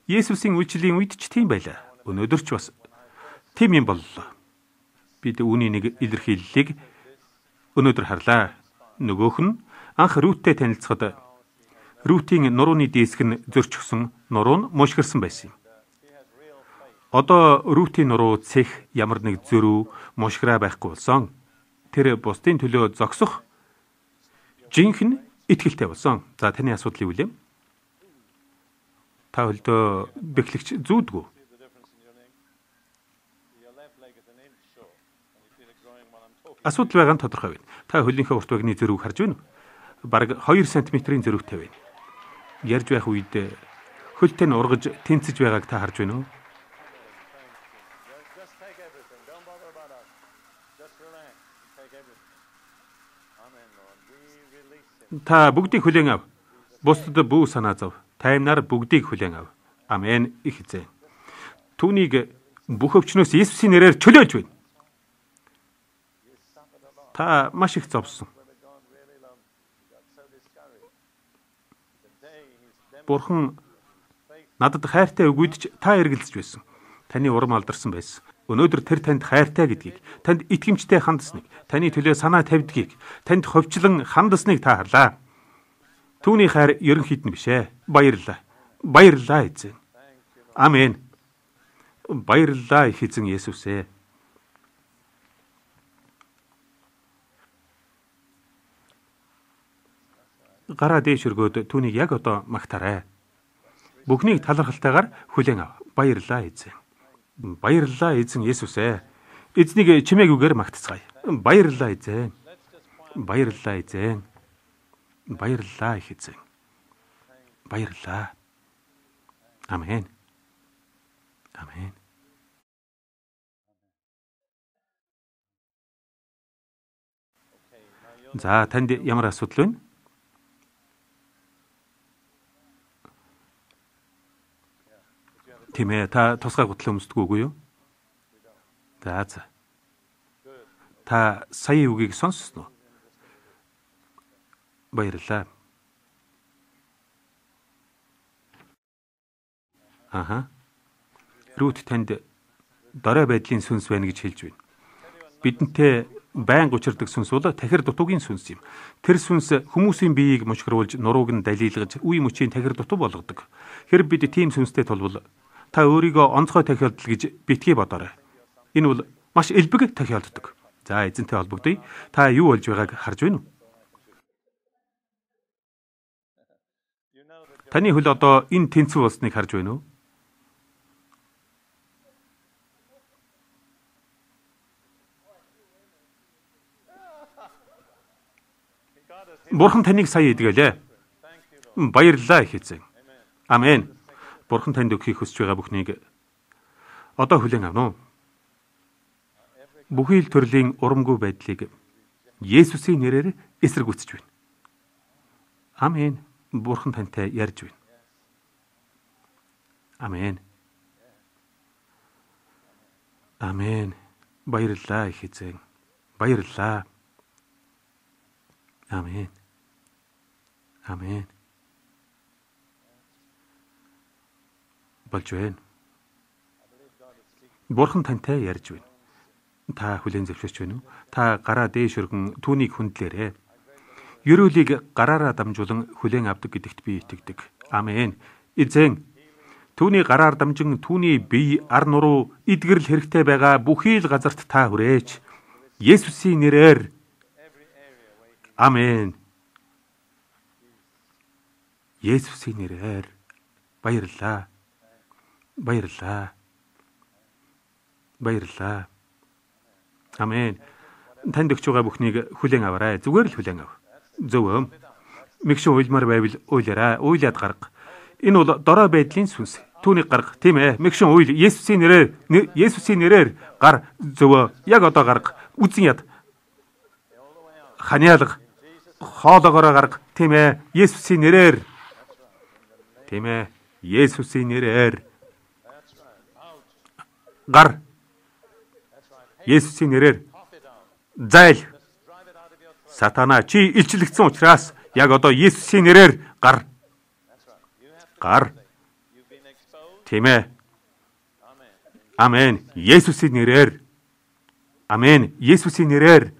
Есүсийн үйлчлэлийн үед ч тийм байлаа. Өнөөдөр ч бас тийм юм боллоо. Бид үүний нэг илэрхийллийг өнөөдөр харлаа. Нөгөөх нь анх Рүттэй танилцахад Рүтийн нурууны диск нь зөрчихсөн, нуруу нь мушгирсан байсан юм. Одоо Рүтийн нуруу цэх ямар нэг зөрүү, мушгираа байхгүй болсон. Тэр бусдын төлөө зогсох жинхэнэ итгэлтэй болсон. За таны асуудал юу вэ? Та хөлдөө бэхлэгч зүүдгүй. Асуудал байгаа нь тодорхой байна. Та хөлийнхөө урт багны зөрүүг харж байна уу? Бараг хоёр сантиметрийн зөрүүтэй байна. Ярьж байх үед хөлтэй нь ургаж тэнцэж байгааг та харж байна уу? Та бүгдийг хүлээн ав. Бусдад бүү санаа зов. Таймнаар бүгдийг хүлээн ав. Амен. Их эзэн. Түүнийг бүх өвчнөөс Есүсийн нэрээр чөлөөлж байна. Та маш их зовсон. Бурхан надад хайртай өгөөдч та эргэлзэж байсан. Таны урам алдарсан байсан. Өнөөдөр тэр танд хайртай гэдгийг, танд итгэмжтэй хандасныг, таны төлөө санаа тавьдгийг, танд ховчлон хандасныг та харлаа. Түүний хайр ерөнхийд нь биш ээ. Баярлалаа. Баярлалаа эзэн. Амен. Баярлалаа их эзэн Есүс ээ. Гараа дээш өргөөд түүнийг яг одоо магтаарай. Бүхнийг талархалтайгаар хүлээн ав. Баярлалаа эзэн. Баярлалаа эзэн Есүс ээ. Эзнийг чимээгүйгээр магтцгаая. Баярлалаа эзэн. Баярлалаа эзэн. Баярлалаа их эзэн. Баярлалаа. Амен. Амен. За танд ямар асуудал вэ? Тийм ээ, та тусгай гутал өмсдөг үгүй юу? За за. Та сая үгийг сонссноо? Баярлалаа. Аха. Рут танд дорой байдлын сүнс байна гэж хэлж байна. Бидэнтэй байнга учирдаг сүнс бол тахир дутуугийн сүнс юм. Тэр сүнс хүмүүсийн биеийг мушгруулж, нурууг нь далилгаж, үе мөчийн тахир дутуу болгодог. Хэрэг бид тийм сүнстэй тулвал та өөрийгөө онцгой тахиолдол гэж битгий бодоорой. Энэ бол маш элбэг тахиолддог. За эзэнтэй холбогдъё. Та юу болж байгааг харж байна уу? Таны хөл одоо энэ тэнцүү болсныг харж байна уу? Бурхан таныг сая идгэлээ. Баярлалаа их эзэн. Амен. Бурхан танд өгөхийг хүсэж байгаа бүхнийг одоо хүлээн авна уу? Бүхий л төрлийн урамгүй байдлыг Есүсийн нэрээр эсэргүүцэж байна. Амен. Бурхан тантай ярьж байна. Амен. Амен. Баярлалаа их эзэн. Баярлалаа. Амен. Амен. Болж байна. Бурхан тантай ярьж байна. Та хүлээн зөвшөөрч байна уу? Та гараа дээш өргөн түүнийг хүндлээрэй. Ерөөлийг гараараа дамжуулан хүлээн авдаг гэдэгт би итгэдэг. Амен. Эзэн, түүний гараар дамжин түүний бие ар нуруу эдгэрэл хэрэгтэй байгаа бүхий л газарт та хүрээч. Есүсийн нэрээр. Амен. Есүсийн нэрээр. Баярлалаа. Баярлалаа. Баярлалаа. Амен. Танд өгч байгаа бүхнийг хүлээн аваарай. Зүгээр л хүлээн ав. Зөв. Мэгшин уйлмар байвал уйлаарай. Уйлаад гарга. Энэ бол дорой байдлын сүнс. Түүнийг гарга. Тийм ээ. Мэгшин уйл. Есүсийн нэрээр. Есүсийн нэрээр гар. Зөв. Яг одоо гарга. Үзэн яд. Ханиалга. Хоолоогоороо гарга. Тийм ээ. Есүсийн нэрээр. Тийм ээ. Есүсийн нэрээр. Гар. Есүсийн нэрээр. Зайл. Сатана чи илчлэгдсэн учраас яг одоо Есүсийн нэрээр гар. Гар. Тийм ээ. Амен. Есүсийн нэрээр. Амен. Есүсийн нэрээр.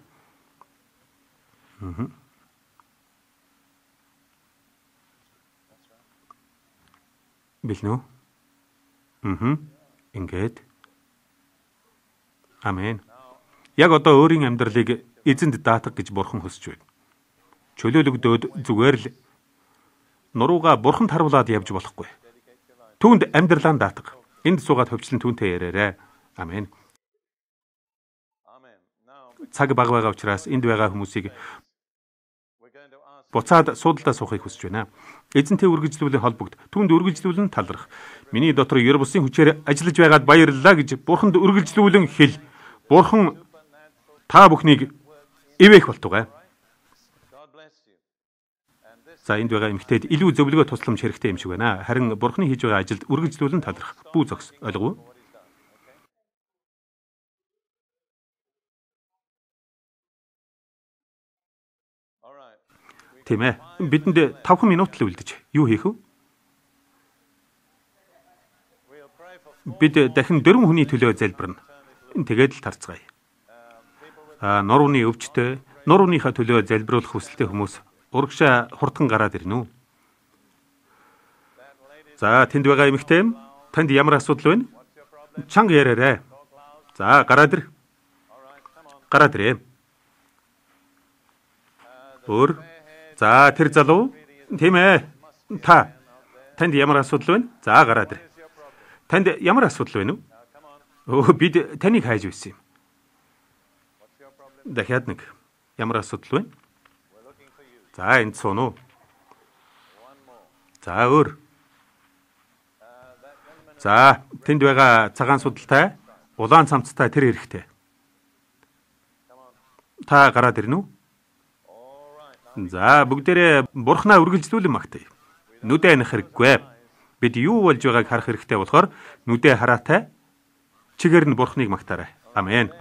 Мм. Билнэ үү? Мм. Ингээд. Амен. Яг одоо өөрийн амьдралыг эзэнд даатах гэж Бурхан хүсэж байна. Чөлөөлөгдөөд зүгээр л нурууга Бурханд харуулад явж болохгүй. Түүнд амьдралаа даатах. Энд суугаад хөвчлэн түүнтэй яриарай. Амен. Цаг бага байгаа учраас энд байгаа хүмүүсийг буцаад суудалдаа суухыг хүсэж байна. Эзэнтэй үргэлжлүүлэн холбогд, түүнд үргэлжлүүлэн талрах. Миний дотор ер бусын хүчээр ажиллаж байгаад баярлалаа гэж Бурханд үргэлжлүүлэн хэл. Бурхан та бүхнийг ивэх болтугай. За энд байгаа эмэгтэйд илүү зөвлөгөө тусламж хэрэгтэй юм шиг байна. Харин Бурханы хийж байгаа ажилд үргэлжлүүлэн талрах. Бүү зогс. Ойлгов уу? Тийм ээ. Бидэнд тавхан минут л үлдэж. Юу хийх вэ? Бид дахин дөрвөн хүний төлөө залбирна. Тэгээд л тарцгаая. А нурууны өвчтөй, нурууныхаа төлөө залбируулах хүсэлтэй хүмүүс урагшаа хурдхан гараад ирнэ үү? За тэнд байгаа эмэгтэй, танд ямар асуудал байна? Чанга яриарай. За гараад ир. Гараад ирээ. Өөр. За тэр залуу. Тийм ээ. Та. Танд ямар асуудал байна? За гараад ир. Танд ямар асуудал байна вэ? Өө бид таныг хайж байсан юм. Дахиад нэг. Ямар асуудал байна? За энд сууно. За өөр. За тэнд байгаа цагаан судалтай, улаан цамцтай тэр эрэхтэй. Та гараад ирнэ үү? За бүгдээрээ Бурхнаа үргэлжлүүлэн магтъя. Нүдэ анх хэрэггүй. Бид юу болж байгааг харах хэрэгтэй болохоор нүдэ хараатай чигээр нь Бурхныг магтаарай. Амен.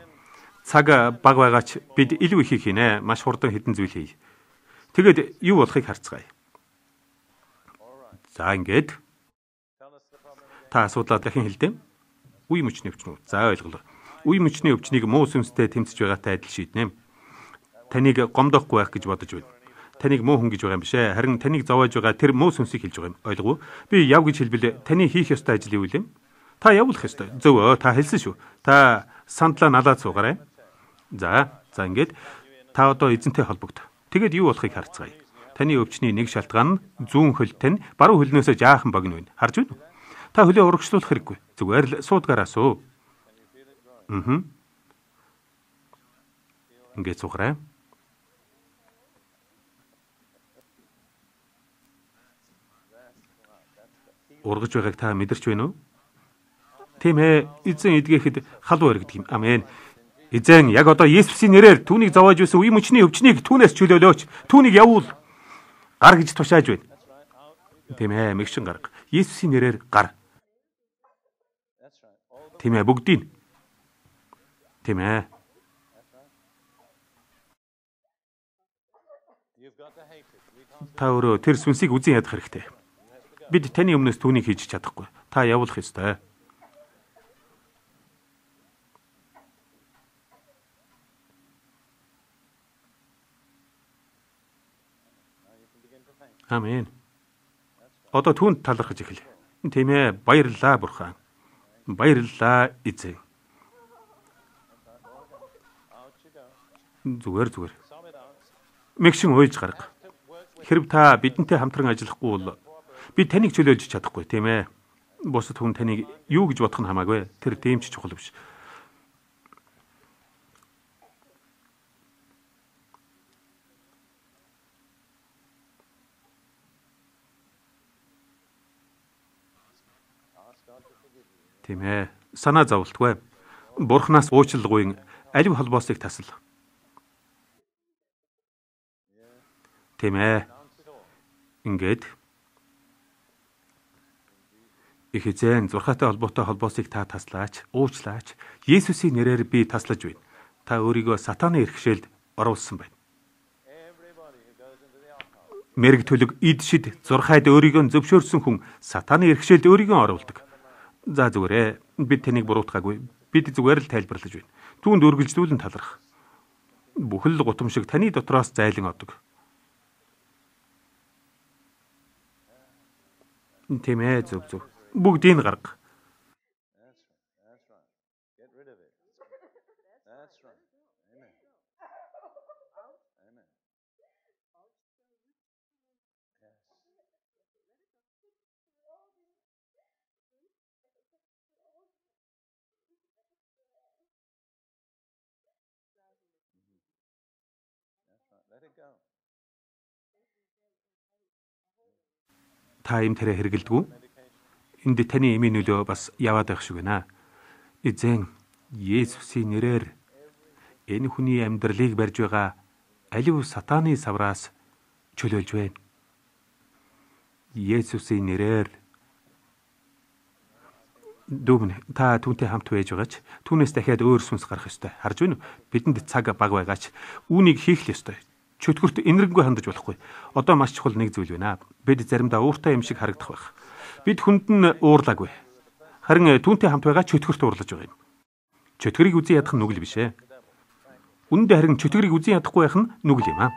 Цаг баг байгаач бид илүү их хийнэ. Маш хурдан хэдэн зүйл хий. Тэгэд юу болохыг харцгаая. За ингээд Та асуудлаа дахин хэлдэг. Үе мөчний өвчин үү? За ойлголоо. Үе мөчний өвчнийг муу сүнстэй тэмцэж байгаатай адил шийднэ. Таныг гомдохгүй байх гэж бодож байна. Таныг муу хүн гэж байгаа юм биш ээ. Харин таныг зовоож байгаа тэр муу сүнсийг хэлж байгаа юм. Ойлгов уу? Би яв гэж хэлбэл таны хийх ёстой ажил юу вэ? Та явуулах ёстой. Зөв өө, та хэлсэн шүү. Та сандлаа налаад суугаарай. За, за ингээд та одоо эзэнтэй холбогд. Тэгээд юу болохыг харцгаая. Таны өвчний нэг шалтгаан нь зүүн хөлт тань баруун хөлнөөсөө жаахан богино байна. Харж байна уу? Та хөлөө урагшлуулах хэрэггүй. Зүгээр л суудгаараа суу. Аа. Ингээд суугаарай. Ургаж байгааг та мэдэрч байна уу? Тийм ээ, эзэн эдгээхэд халуу өргөдөг юм. Амен. Эзэн яг одоо Есүсийн нэрээр түүнийг зовоож байсан үе мөчний өвчнийг түүнээс чөлөөлөөч. Түүнийг явуул. Гар гэж тушааж байна. Тийм ээ, мэгшин гарга. Есүсийн нэрээр гар. Тийм ээ, бүгдийг. Тийм ээ. Та өөрөө тэр сүнсийг үзэн ядах хэрэгтэй. Бид таны өмнөөс түүнийг хийж чадахгүй. Та явуулах ёстой. Амен. Одоо түүнд талархаж эхэл. Тийм ээ, баярлалаа бурхан. Баярлалаа эзэн. Зүгээр зүгээр. Мэгшин уйлж гарга. Хэрв та бидэнтэй хамтран ажиллахгүй бол би таныг чөлөөлж чадахгүй, тийм ээ. Бусад хүн таныг юу гэж бодох нь хамаагүй. Тэр тийм ч чухал биш. Тийм ээ. Санаа зовлтгүй. Бурханаас уучлалгүйн алив холбоосыг тасал. Тийм ээ. Ингээд их эзэн зурхаатай холбоотой холбоосыг та таслаач, уучлаач. Есүсийн нэрээр би таслаж байна. Та өөрийгөө сатааны эрхшээлд оруулсан байна. Мэрэг төлөг ид шид зурхайд өөрийгөө зөвшөөрсөн хүн сатааны эрхшээлд өөрийгөө оруулдаг. За зүгээрээ бид таныг буруутгаагүй. Бид зүгээр л тайлбарлаж байна. Түүнд үргэлжлүүлэн таларх. Бүхэл гутамшиг таны дотроос зайлан одог. Тийм ээ, зөв зөв. Бүгдийг гарга. Та им тэрэ хэрэгэлдэггүй. Энд таны эмийн нөлөө бас яваад байх шиг байна. Эзэн Есүсийн нэрээр энэ хүний амьдралыг барьж байгаа алив сатааны савраас чөлөөлж байна. Есүсийн нэрээр дүүмэн та түүнтэй хамт байж байгаач түүнээс дахиад өөр сүнс гарах ёстой. Харж байна уу? Бидэнд цаг баг байгаач үүнийг хийх л ёстой. Чөтгөрт энэрэнгүй хандаж болохгүй. Одоо маш чухал нэг зүйл байна. Бид заримдаа ууртай юм шиг харагдах байх. Бид хүнд нь уурлаагүй. Харин түүнтэй хамт байгаа чөтгөрт уурлаж байгаа юм. Чөтгөрийг үзэн ядах нь нүгэл биш ээ. Үндэ харин чөтгөрийг үзэн ядахгүй байх нь нүгэл юм аа.